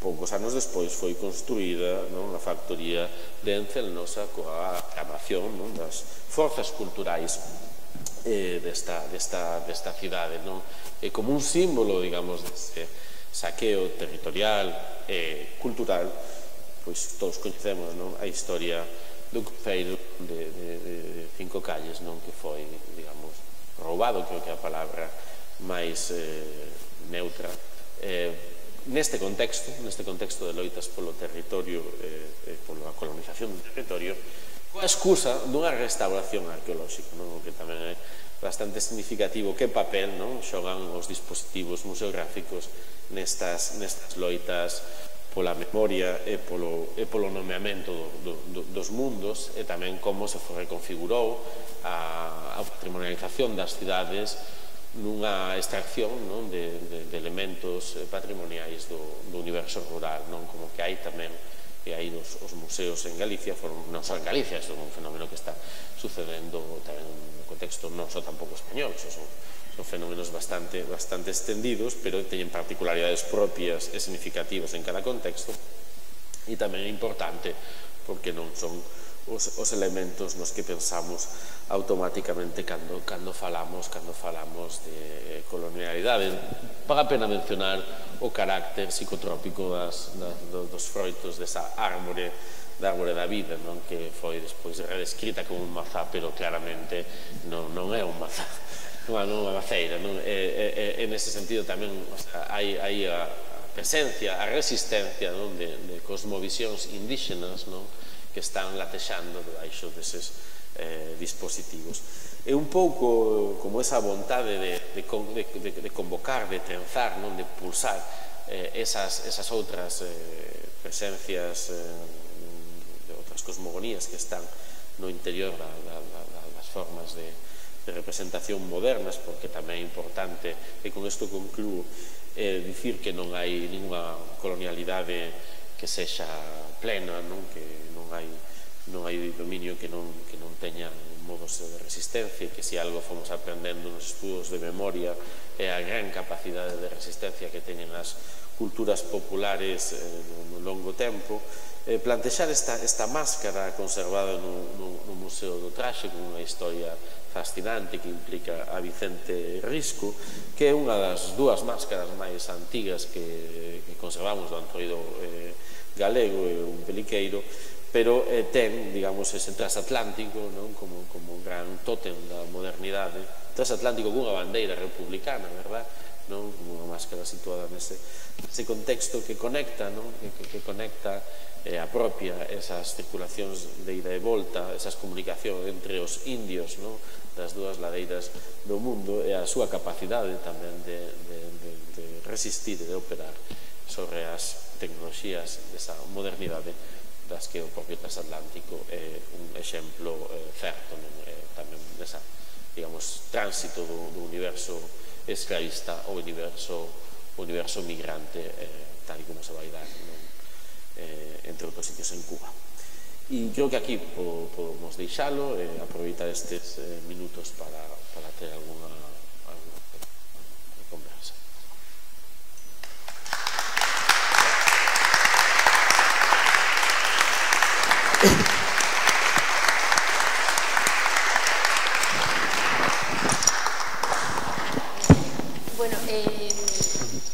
poucos anos despois foi construída a factoría de Encelnosa coa aclamación das forzas culturais desta cidade, como un símbolo, digamos, deste saqueo territorial e cultural. Pois todos coñecemos a historia do cruceiro de Cinco Calles, que foi, digamos, roubado, creo que é a palabra máis neutra, neste contexto de loitas polo territorio e pola colonización do territorio, coa excusa dunha restauración arqueolóxica, o que tamén é bastante significativo que papel xogan os dispositivos museográficos nestas loitas pola memoria e polo nomeamento dos mundos, e tamén como se reconfigurou a patrimonialización das cidades nunha extracción de elementos patrimoniais do universo rural, como que hai tamén, e aí os museos en Galicia non só en Galicia, é un fenómeno que está sucedendo tamén no contexto non só tampouco español, son fenómenos bastante extendidos, pero teñen particularidades propias e significativas en cada contexto, e tamén é importante porque non son os elementos nos que pensamos automáticamente cando falamos de colonialidade. Paga a pena mencionar o carácter psicotrópico dos froitos desa árbore da vida, que foi despois redescrita como un mazá, pero claramente non é un mazá, non é unha maceira. E nese sentido tamén hai a presencia, a resistencia de cosmovisións indígenas que están latexando debaixo deses dispositivos. É un pouco como esa vontade de convocar, de trenzar, de pulsar esas outras presencias de outras cosmogonías que están no interior das formas de representación modernas, porque tamén é importante, e con isto concluo, dicir que non hai ninguna colonialidade que sexa plena, que non hai dominio que non teña modos de resistencia, e que se algo fomos aprendendo nos estudos de memoria é a gran capacidade de resistencia que teñen as culturas populares no longo tempo. Plantexar esta máscara conservada no Museo do Traxe, con unha historia fascinante que implica a Vicente Risco, que é unha das dúas máscaras máis antigas que conservamos do Antroido galego e un peliqueiro, pero ten, digamos, ese transatlántico como un gran tótem da modernidade, transatlántico cunha bandeira republicana, verdad? Como unha máscara situada nese contexto que conecta, que conecta e apropia esas circulacións de ida e volta, esas comunicacións entre os indios das dúas ladeiras do mundo, e a súa capacidade tamén de resistir e de operar sobre as tecnoloxías desa modernidade das que o propio transatlántico é un exemplo certo tamén desa, digamos, tránsito do universo esclavista ao universo migrante, tal como se vai dar entre outros sitios en Cuba. E creo que aquí podemos deixalo e aproveitar estes minutos para ter alguna conversa. Bueno,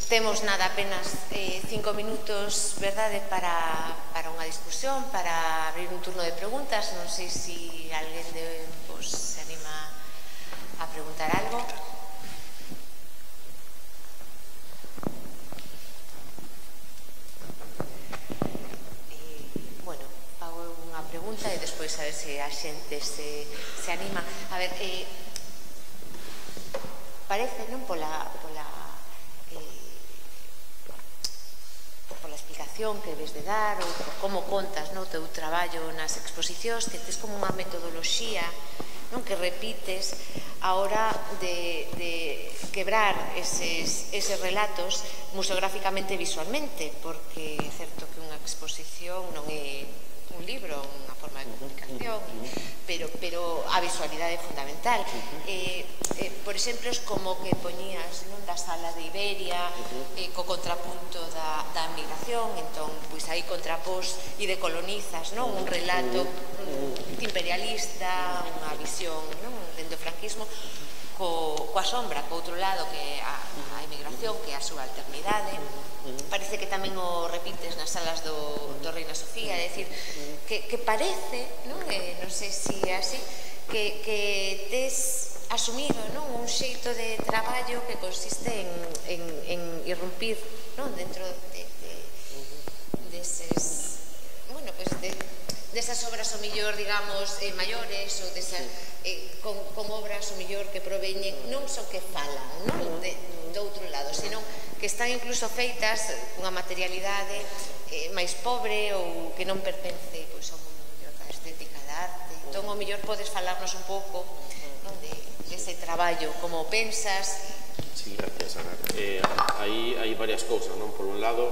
temos nada, apenas 5 minutos, verdade, para unha discusión, para abrir un turno de preguntas. Non sei se alguén se anima a preguntar algo. Bueno, fago unha pregunta e despois a ver se a xente se anima. A ver, parece, non, pola explicación que debes de dar ou por como contas o teu traballo nas exposicións, que tes como unha metodoloxía que repites a hora de quebrar eses relatos museográficamente e visualmente, porque é certo que unha exposición non é un libro, unha forma de comunicación, pero a visualidade é fundamental. Por exemplo, es como que poñías da sala de Iberia co contrapunto da migración, entón, pois aí contrapós e decolonizas un relato imperialista, unha visión dentro do franquismo, coa sombra, co outro lado, que é a emigración, que é a subalternidade. Parece que tamén o repites nas salas do Reina Sofía, é dicir, que parece, non sei se é así, que tes asumido un xeito de traballo que consiste en irrumpir dentro deses, bueno, pues desas obras o millor, digamos, maiores, ou con obras o millor que proveñen, non só que falan do outro lado, senón que están incluso feitas cunha materialidade máis pobre ou que non pertence ao mundo mellor da estética da arte. Entón, o mellor podes falarnos un pouco dese traballo, como pensas. Sí, gracias, Ana. Hai varias cousas, non? Por un lado,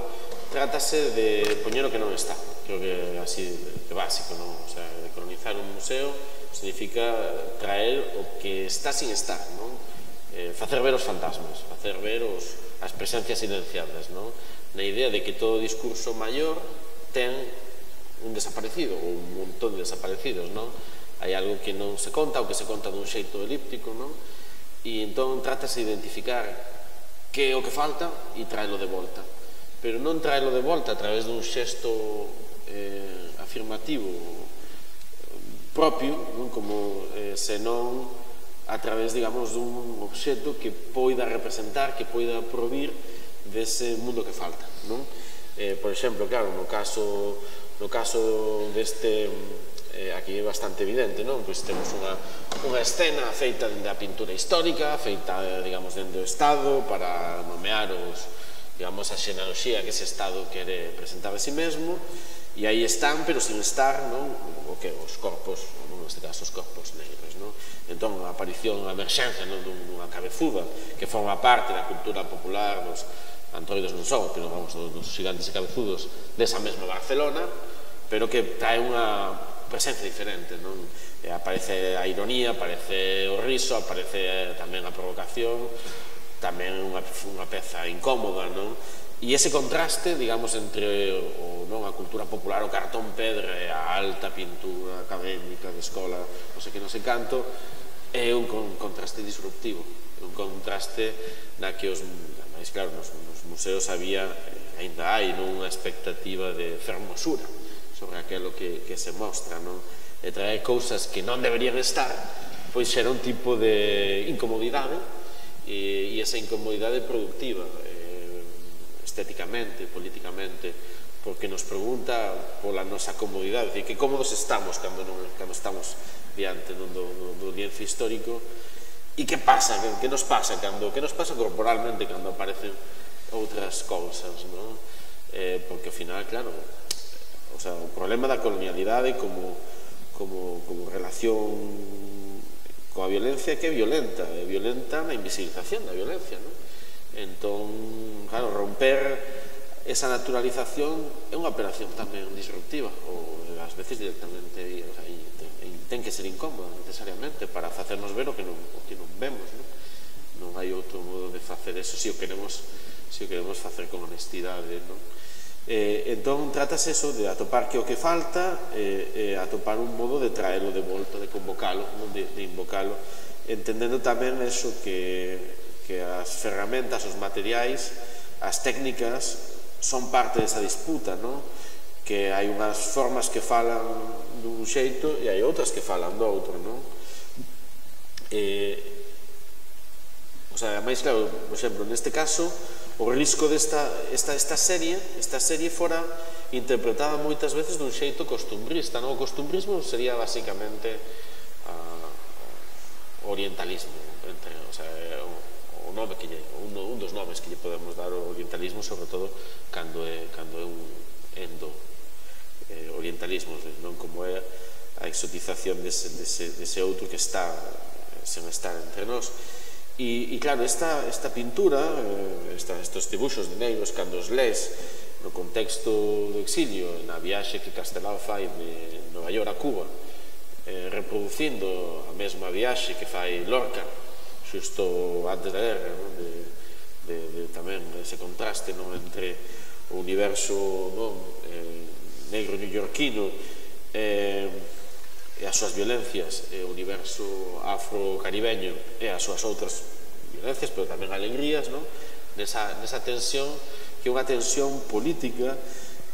trátase de poñer o que non está. Creo que é así de básico, non? O sea, de colonizar un museo significa traer o que está sin estar, non? Facer ver os fantasmas, facer ver as presencias silenciadas, non? Na idea de que todo discurso maior ten un desaparecido, ou un montón de desaparecidos, non? Hai algo que non se conta, ou que se conta dun xeito elíptico, non? E entón trátase de identificar que é o que falta e traelo de volta. Pero non traelo de volta a través dun xesto afirmativo propio, como senón a través, digamos, dun obxecto que poida representar, que poida provir dese mundo que falta, non? Por exemplo, claro, no caso deste, aquí é bastante evidente, non? Pois temos unha escena feita dende a pintura histórica, feita, digamos, dende o Estado para nomear digamos, a xenealoxía que ese Estado quere presentar a si mesmo, e aí están, pero sin estar, non? Os corpos, neste caso, os corpos negros, non? Entón, a aparición, a emerxencia dunha cabezuda que forma parte da cultura popular dos antroidos non só, pero vamos, dos gigantes e cabezudos desa mesma Barcelona, pero que trae unha presencia diferente, non? Aparece a ironía, aparece o riso, aparece tamén a provocación, tamén unha peza incómoda, non? E ese contraste, digamos, entre a cultura popular, o cartón pedra e a alta pintura académica de escola, non sei que non sei canto, é un contraste disruptivo, un contraste na que máis claro, nos museos había, ainda hai, unha expectativa de fermosura sobre aquilo que se mostra, non? E traer cousas que non deberían estar, pois xera un tipo de incomodidade, e esa incomodidade productiva, estéticamente, políticamente, porque nos pregunta pola nosa comodidade, dicir, que cómodos estamos cando estamos diante do lienzo histórico, e que pasa, que nos pasa corporalmente cando aparecen outras cousas, non? Porque ao final, claro, o problema da colonialidade como relación coa violencia que é violenta na invisibilización da violencia, non? Entón, claro, romper esa naturalización é unha operación tamén disruptiva, ou ás veces directamente ten que ser incómoda necesariamente para facernos ver o que non vemos, non hai outro modo de facer eso se o queremos facer con honestidade, non? Entón, trátase eso de atopar que o que falta, atopar un modo de traelo de volta, de convocalo, de invocalo, entendendo tamén eso que as ferramentas, os materiais, as técnicas son parte desa disputa, non? Que hai unhas formas que falan dun xeito e hai outras que falan do outro, non? Máis claro, por exemplo, neste caso, o risco desta serie fora interpretada moitas veces dun xeito costumbrista, non? O costumbrismo sería basicamente o orientalismo, o un dos nomes que lle podemos dar ao orientalismo, sobre todo cando é un endo orientalismo, non como é a exotización dese outro que está sen estar entre nós. E claro, esta pintura, estes dibuxos de negros, cando os lees no contexto do exilio, na viaxe que Castelao fai de Nova York a Cuba, reproducindo a mesma viaxe que fai Lorca xusto antes da guerra, tamén ese contraste entre o universo negro neoyorquino e as súas violencias, e o universo afro-caribeño e as súas outras violencias, pero tamén alegrías, nesa tensión, que é unha tensión política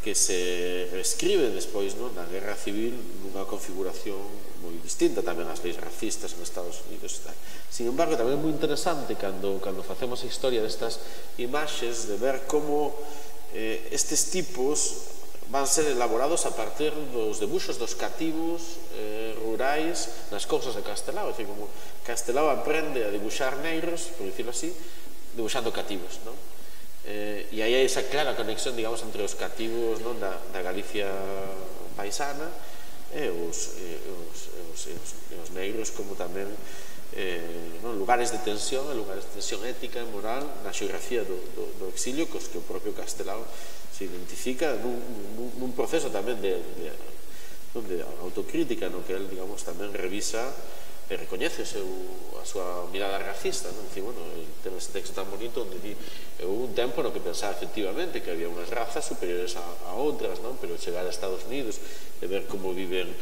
que se reescribe despois na guerra civil nunha configuración moi distinta tamén ás leis racistas en Estados Unidos. Sin embargo, tamén é moi interesante cando facemos a historia destas imaxes de ver como estes tipos van ser elaborados a partir dos debuxos dos cativos rurais nas cousas de Castelao. É dicir, como Castelao aprende a dibuxar negros, por dicirlo así, dibuxando cativos, non? E aí hai esa clara conexión, digamos, entre os cativos da Galicia paisana e os negros como tamén lugares de tensión ética e moral na xeografía do exilio, cos que o propio Castelao se identifica nun proceso tamén de autocrítica, no que el, digamos, tamén revisa e recoñece a súa mirada racista, non? Dicir, bueno, ten ese texto tan bonito onde di, houve un tempo no que pensaba efectivamente que había unhas razas superiores a outras, non? Pero chegar a Estados Unidos e ver como viven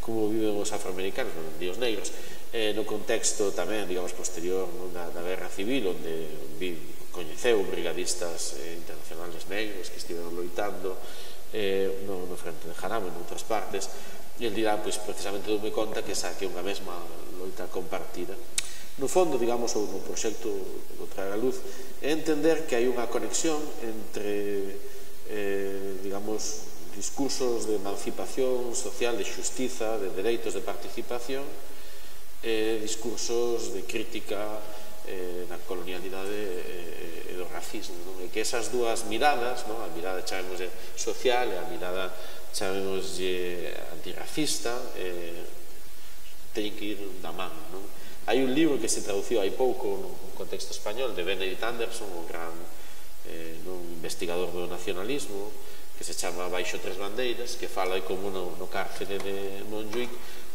os afroamericanos, e os negros, no contexto tamén, digamos, posterior da guerra civil, onde coñeceu brigadistas internacionales negros que estiveron loitando no frente de Jarama, en outras partes, e el dirá, pois, precisamente doume conta que esa que é unha mesma loita compartida. No fondo, digamos, ou no proxecto do Traer a Luz, é entender que hai unha conexión entre, digamos, discursos de emancipación social, de xustiza, de dereitos de participación, e discursos de crítica da colonialidade e do racismo, e que esas dúas miradas, a mirada, chamemos, social e a mirada, chamemos, antirracista, teñen que ir da man. Hai un libro que se traduciu hai pouco no contexto español de Benedict Anderson, un gran investigador do nacionalismo, que se chama Baixo Tres Bandeiras, que fala de como no cárcere de Montjuïc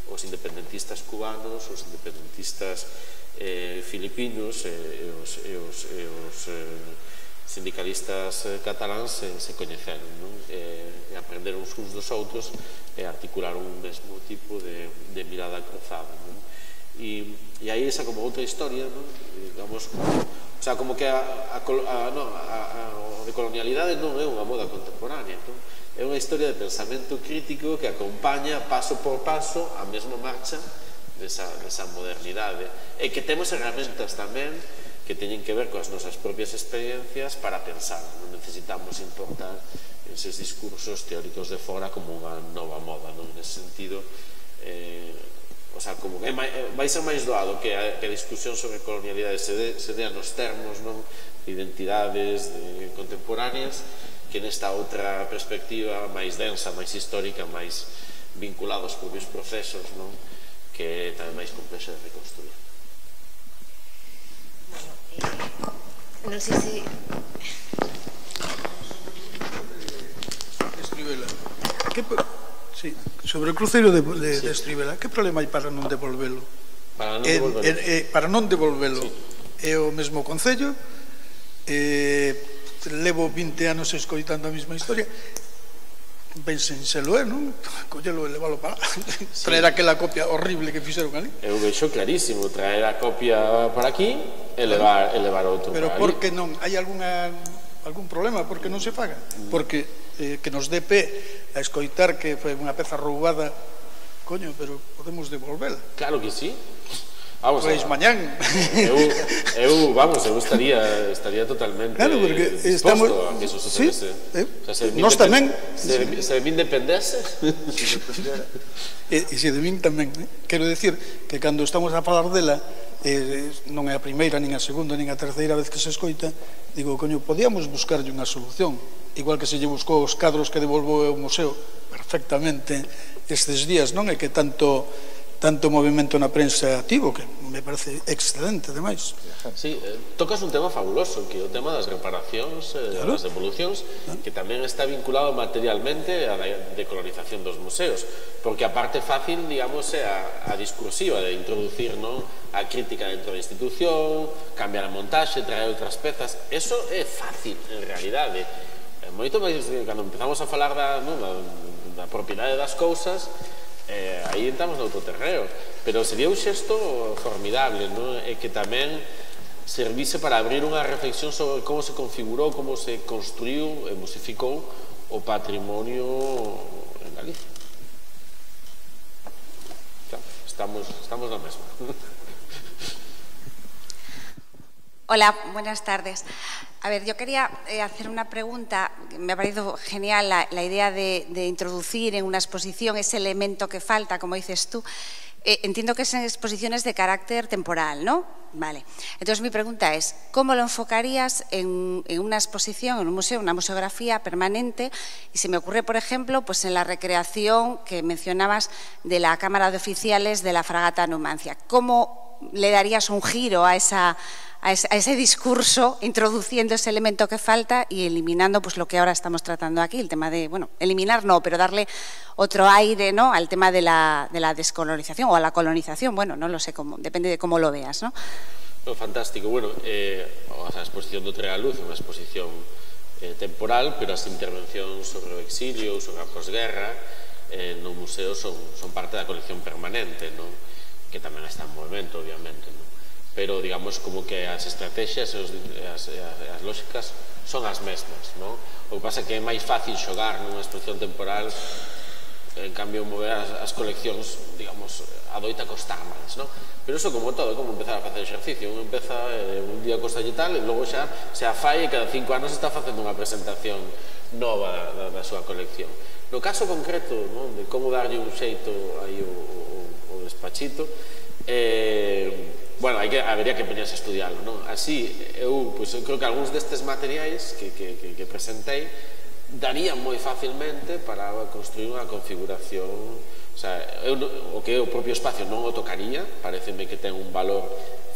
os independentistas cubanos, os independentistas filipinos e os sindicalistas cataláns se coñeceron, e aprenderon uns dos outros e articularon un mesmo tipo de mirada cruzada. E aí esa como outra historia, digamos, o sea, como que a decolonialidade non é unha moda contemporánea, é unha historia de pensamento crítico que acompaña paso por paso a mesma marcha desa modernidade, e que temos herramientas tamén que teñen que ver coas nosas propias experiencias para pensar. Non necesitamos importar eses discursos teóricos de fora como unha nova moda, non? En ese sentido, o sea, como que vai ser máis doado que a discusión sobre colonialidade se dea nos termos, non? De identidades contemporáneas, que nesta outra perspectiva máis densa, máis histórica, máis vinculada aos propios procesos, non? Que é tamén máis complexa de reconstruir. Non sei se... Estribela. Sí, sobre o cruceiro de Estribela, que problema hai para non devolvelo? Para non devolvelo. É o mesmo concello, levo 20 anos escoitando a mesma historia, pensenselo, non? Collelo e levalo para traer aquela copia horrible que fixeron ali. Eu vexo clarísimo, traer a copia para aquí e levar outro para ali. Pero por que non? Hai algún problema? Por que non se faga? Porque que nos dé pé a escoitar que foi unha peza roubada, coño, pero podemos devolvela. Claro que sí. Pois mañán. Eu estaría totalmente disposto a que eso sucedese. Nós tamén. Se de min dependese. E se de min tamén. Quero decir que cando estamos a falar dela, non é a primeira, nin a segunda, nin a terceira vez que se escoita, digo, coño, podíamos buscarlle unha solución, igual que se lle buscou os cadros que devolvou o museo perfectamente estes días, non é que tanto movimento na prensa activo, que me parece excelente, ademais. Sí, tocas un tema fabuloso, que é o tema das reparacións, das devolucións, que tamén está vinculado materialmente á decolonización dos museos, porque a parte fácil, digamos, é a discursiva de introducir a crítica dentro da institución, cambiar a montaxe, traer outras pezas. Eso é fácil, en realidade. Moito máis, cando empezamos a falar da propiedade das cousas, aí entramos no outro terreo, pero sería un xesto formidable, e que tamén servise para abrir unha reflexión sobre como se configurou, como se construiu e musificou o patrimonio en Galicia. Estamos na mesma. Hola, buenas tardes. A ver, yo quería hacer una pregunta. Me ha parecido genial la idea de introducir en una exposición ese elemento que falta, como dices tú. Entiendo que son exposiciones de carácter temporal, ¿no? Vale. Entonces, mi pregunta es, ¿cómo lo enfocarías en una exposición, en un museo, una museografía permanente? Y se me ocurre, por ejemplo, pues en la recreación que mencionabas de la Cámara de Oficiales de la fragata Numancia. ¿Cómo le darías un giro a ese discurso, introduciendo ese elemento que falta y eliminando pues lo que ahora estamos tratando aquí, el tema de, bueno, eliminar no, pero darle otro aire, ¿no?, al tema de la descolonización o a la colonización? Bueno, no lo sé, depende de cómo lo veas, ¿no? Fantástico. Bueno, a exposición do Tre a Luz é unha exposición temporal, pero as intervencións sobre o exilio, sobre a posguerra, no museo son parte da colección permanente, non? Que tamén está en movimento, obviamente, non? Pero, digamos, como que as estrategias e as lógicas son as mesmas, non? O que pasa é que é máis fácil xogar nunha exposición temporal, en cambio, mover as coleccións, digamos, adoita costar máis, non? Pero iso como todo, é como empezar a facer exercicio. Un empeza un día costalle tal, e logo xa se afai e cada 5 anos está facendo unha presentación nova da súa colección. No caso concreto, non, de como darlle un xeito aí o despachito, bueno, habería que poñerse a estudiarlo, non? Así, eu creo que algúns destes materiais que presentei darían moi facilmente para construir unha configuración. O sea, o que é o propio espacio non o tocaría, pareceme que ten un valor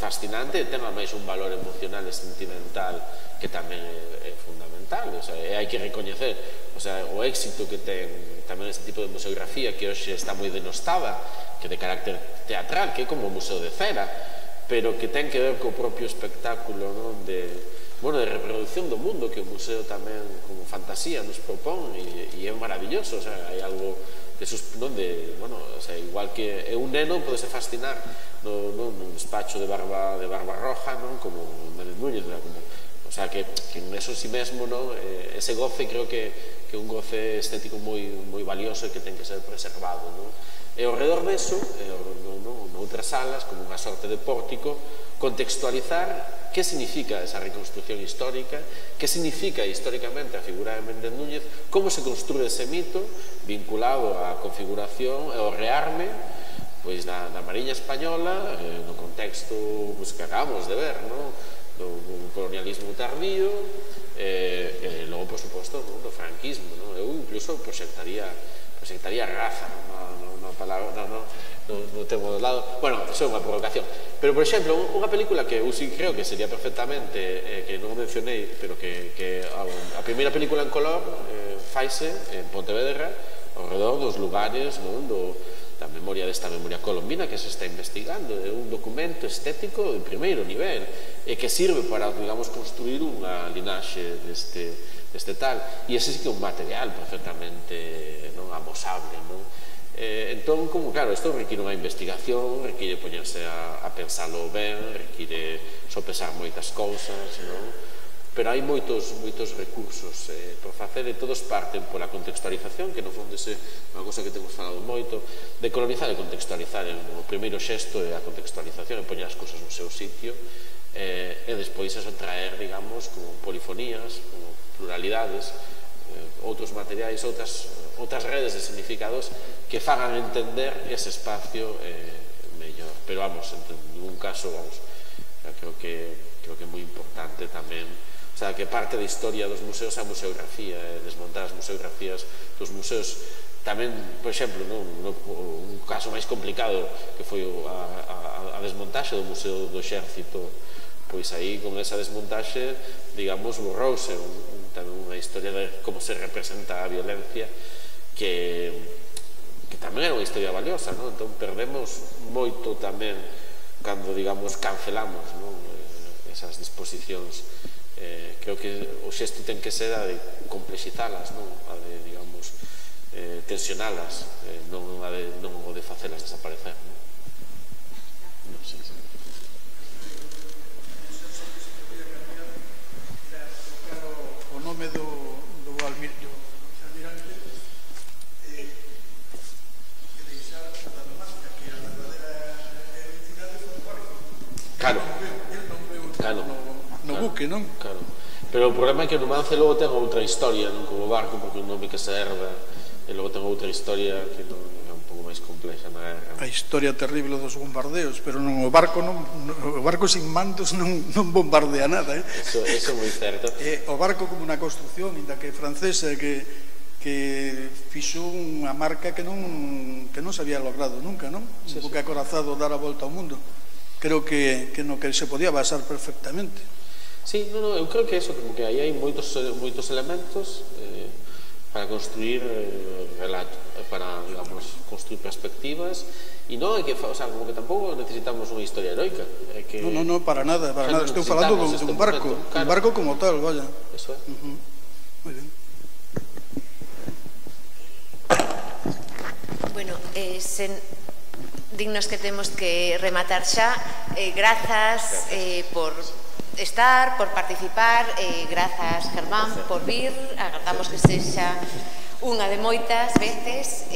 fascinante, ten máis un valor emocional e sentimental que tamén é fundamental. O sea, hai que recoñecer, o sea, o éxito que ten tamén este tipo de museografía, que hoxe está moi denostada, que de carácter teatral, que é como o Museo de Cera, pero que ten que ver co propio espectáculo, non, de reproducción do mundo que o museo tamén como fantasía nos propón, e é maravilloso. O sea, hai algo de, bueno, o sea, igual que un neno pode se fascinar nun despacho de barba roja, non, como Manuel Núñez, o sea, que en eso sí mesmo, non, ese goce creo que é un goce estético moi valioso e que ten que ser preservado, non? E ao redor deso, noutras salas, como unha sorte de pórtico, contextualizar que significa esa reconstrucción histórica, que significa históricamente a figura de Méndez Núñez, como se construe ese mito vinculado á configuración e ao rearme da Mariña Española no contexto que acabamos de ver, do colonialismo tardío, e logo, por suposto, do franquismo. Eu incluso proxectaría raza, unha palabra, non tengo do lado, bueno, iso é unha provocación, pero, por exemplo, unha película que eu sí creo que sería perfectamente, que non mencionei, pero que a primeira película en color faise en Pontevedra ao redor dos lugares da memoria desta memoria colombina que se está investigando. É un documento estético de primeiro nivel e que sirve para, digamos, construir unha linaxe deste tal, e ese sí que é un material perfectamente amosable, non? Entón, como, claro, isto require unha investigación, require poñerse a pensalo ben, require sopesar moitas cousas, non? Pero hai moitos recursos por facer, e todos parten pola contextualización, que no fondo é unha cousa que temos falado moito, de colonizar e contextualizar. O primeiro xesto é a contextualización, e poñer as cousas no seu sitio, e despois eso traer, digamos, como polifonías, como pluralidades, outros materiais, outras redes de significados que fagan entender ese espacio mellor. pero vamos, en ningún caso, vamos, creo que é moi importante tamén, o sea, que parte da historia dos museos é a museografía, desmontar as museografías dos museos. Tamén, por exemplo, un caso máis complicado que foi a desmontaxe do Museo do Exército, pois aí con esa desmontaxe, digamos, borrouse tamén unha historia de como se representa a violencia que tamén era unha historia valiosa, entón perdemos moito tamén cando, digamos, cancelamos esas disposicións. Creo que o xesto ten que ser a de complexizalas, a de, digamos, tensionalas, non o de facelas desaparecer. Non sei. O nome do almirante e deixar a Dinamarca, que a verdadeira heroicidade foi o barco. Claro. No buque, non? Claro. Pero o problema é que o Numance logo ten outra historia, non como o barco, porque é un nome que se herda, e logo ten outra historia que é un pouco máis complexa na guerra. A historia terrible dos bombardeos, pero non, o barco sin mandos non bombardea nada, Eso é moi certo. O barco como unha construción, inda que francesa, que fixo unha marca que non se había logrado nunca, non? Un buque acorazado dar a volta ao mundo. Creo que no que se podía basar perfectamente. Sí, eu creo que eso, como que aí hai moitos elementos para construir relato, para, digamos, construir perspectivas, e non é que, o sea, como que tampouco necesitamos unha historia heroica. No, para nada, estou falando dun barco, un barco como tal, vaya. Eso é. Moi ben. Bueno, dignos que temos que rematar xa, grazas por estar, por participar, grazas Germán por vir, agardamos que sexa unha de moitas veces,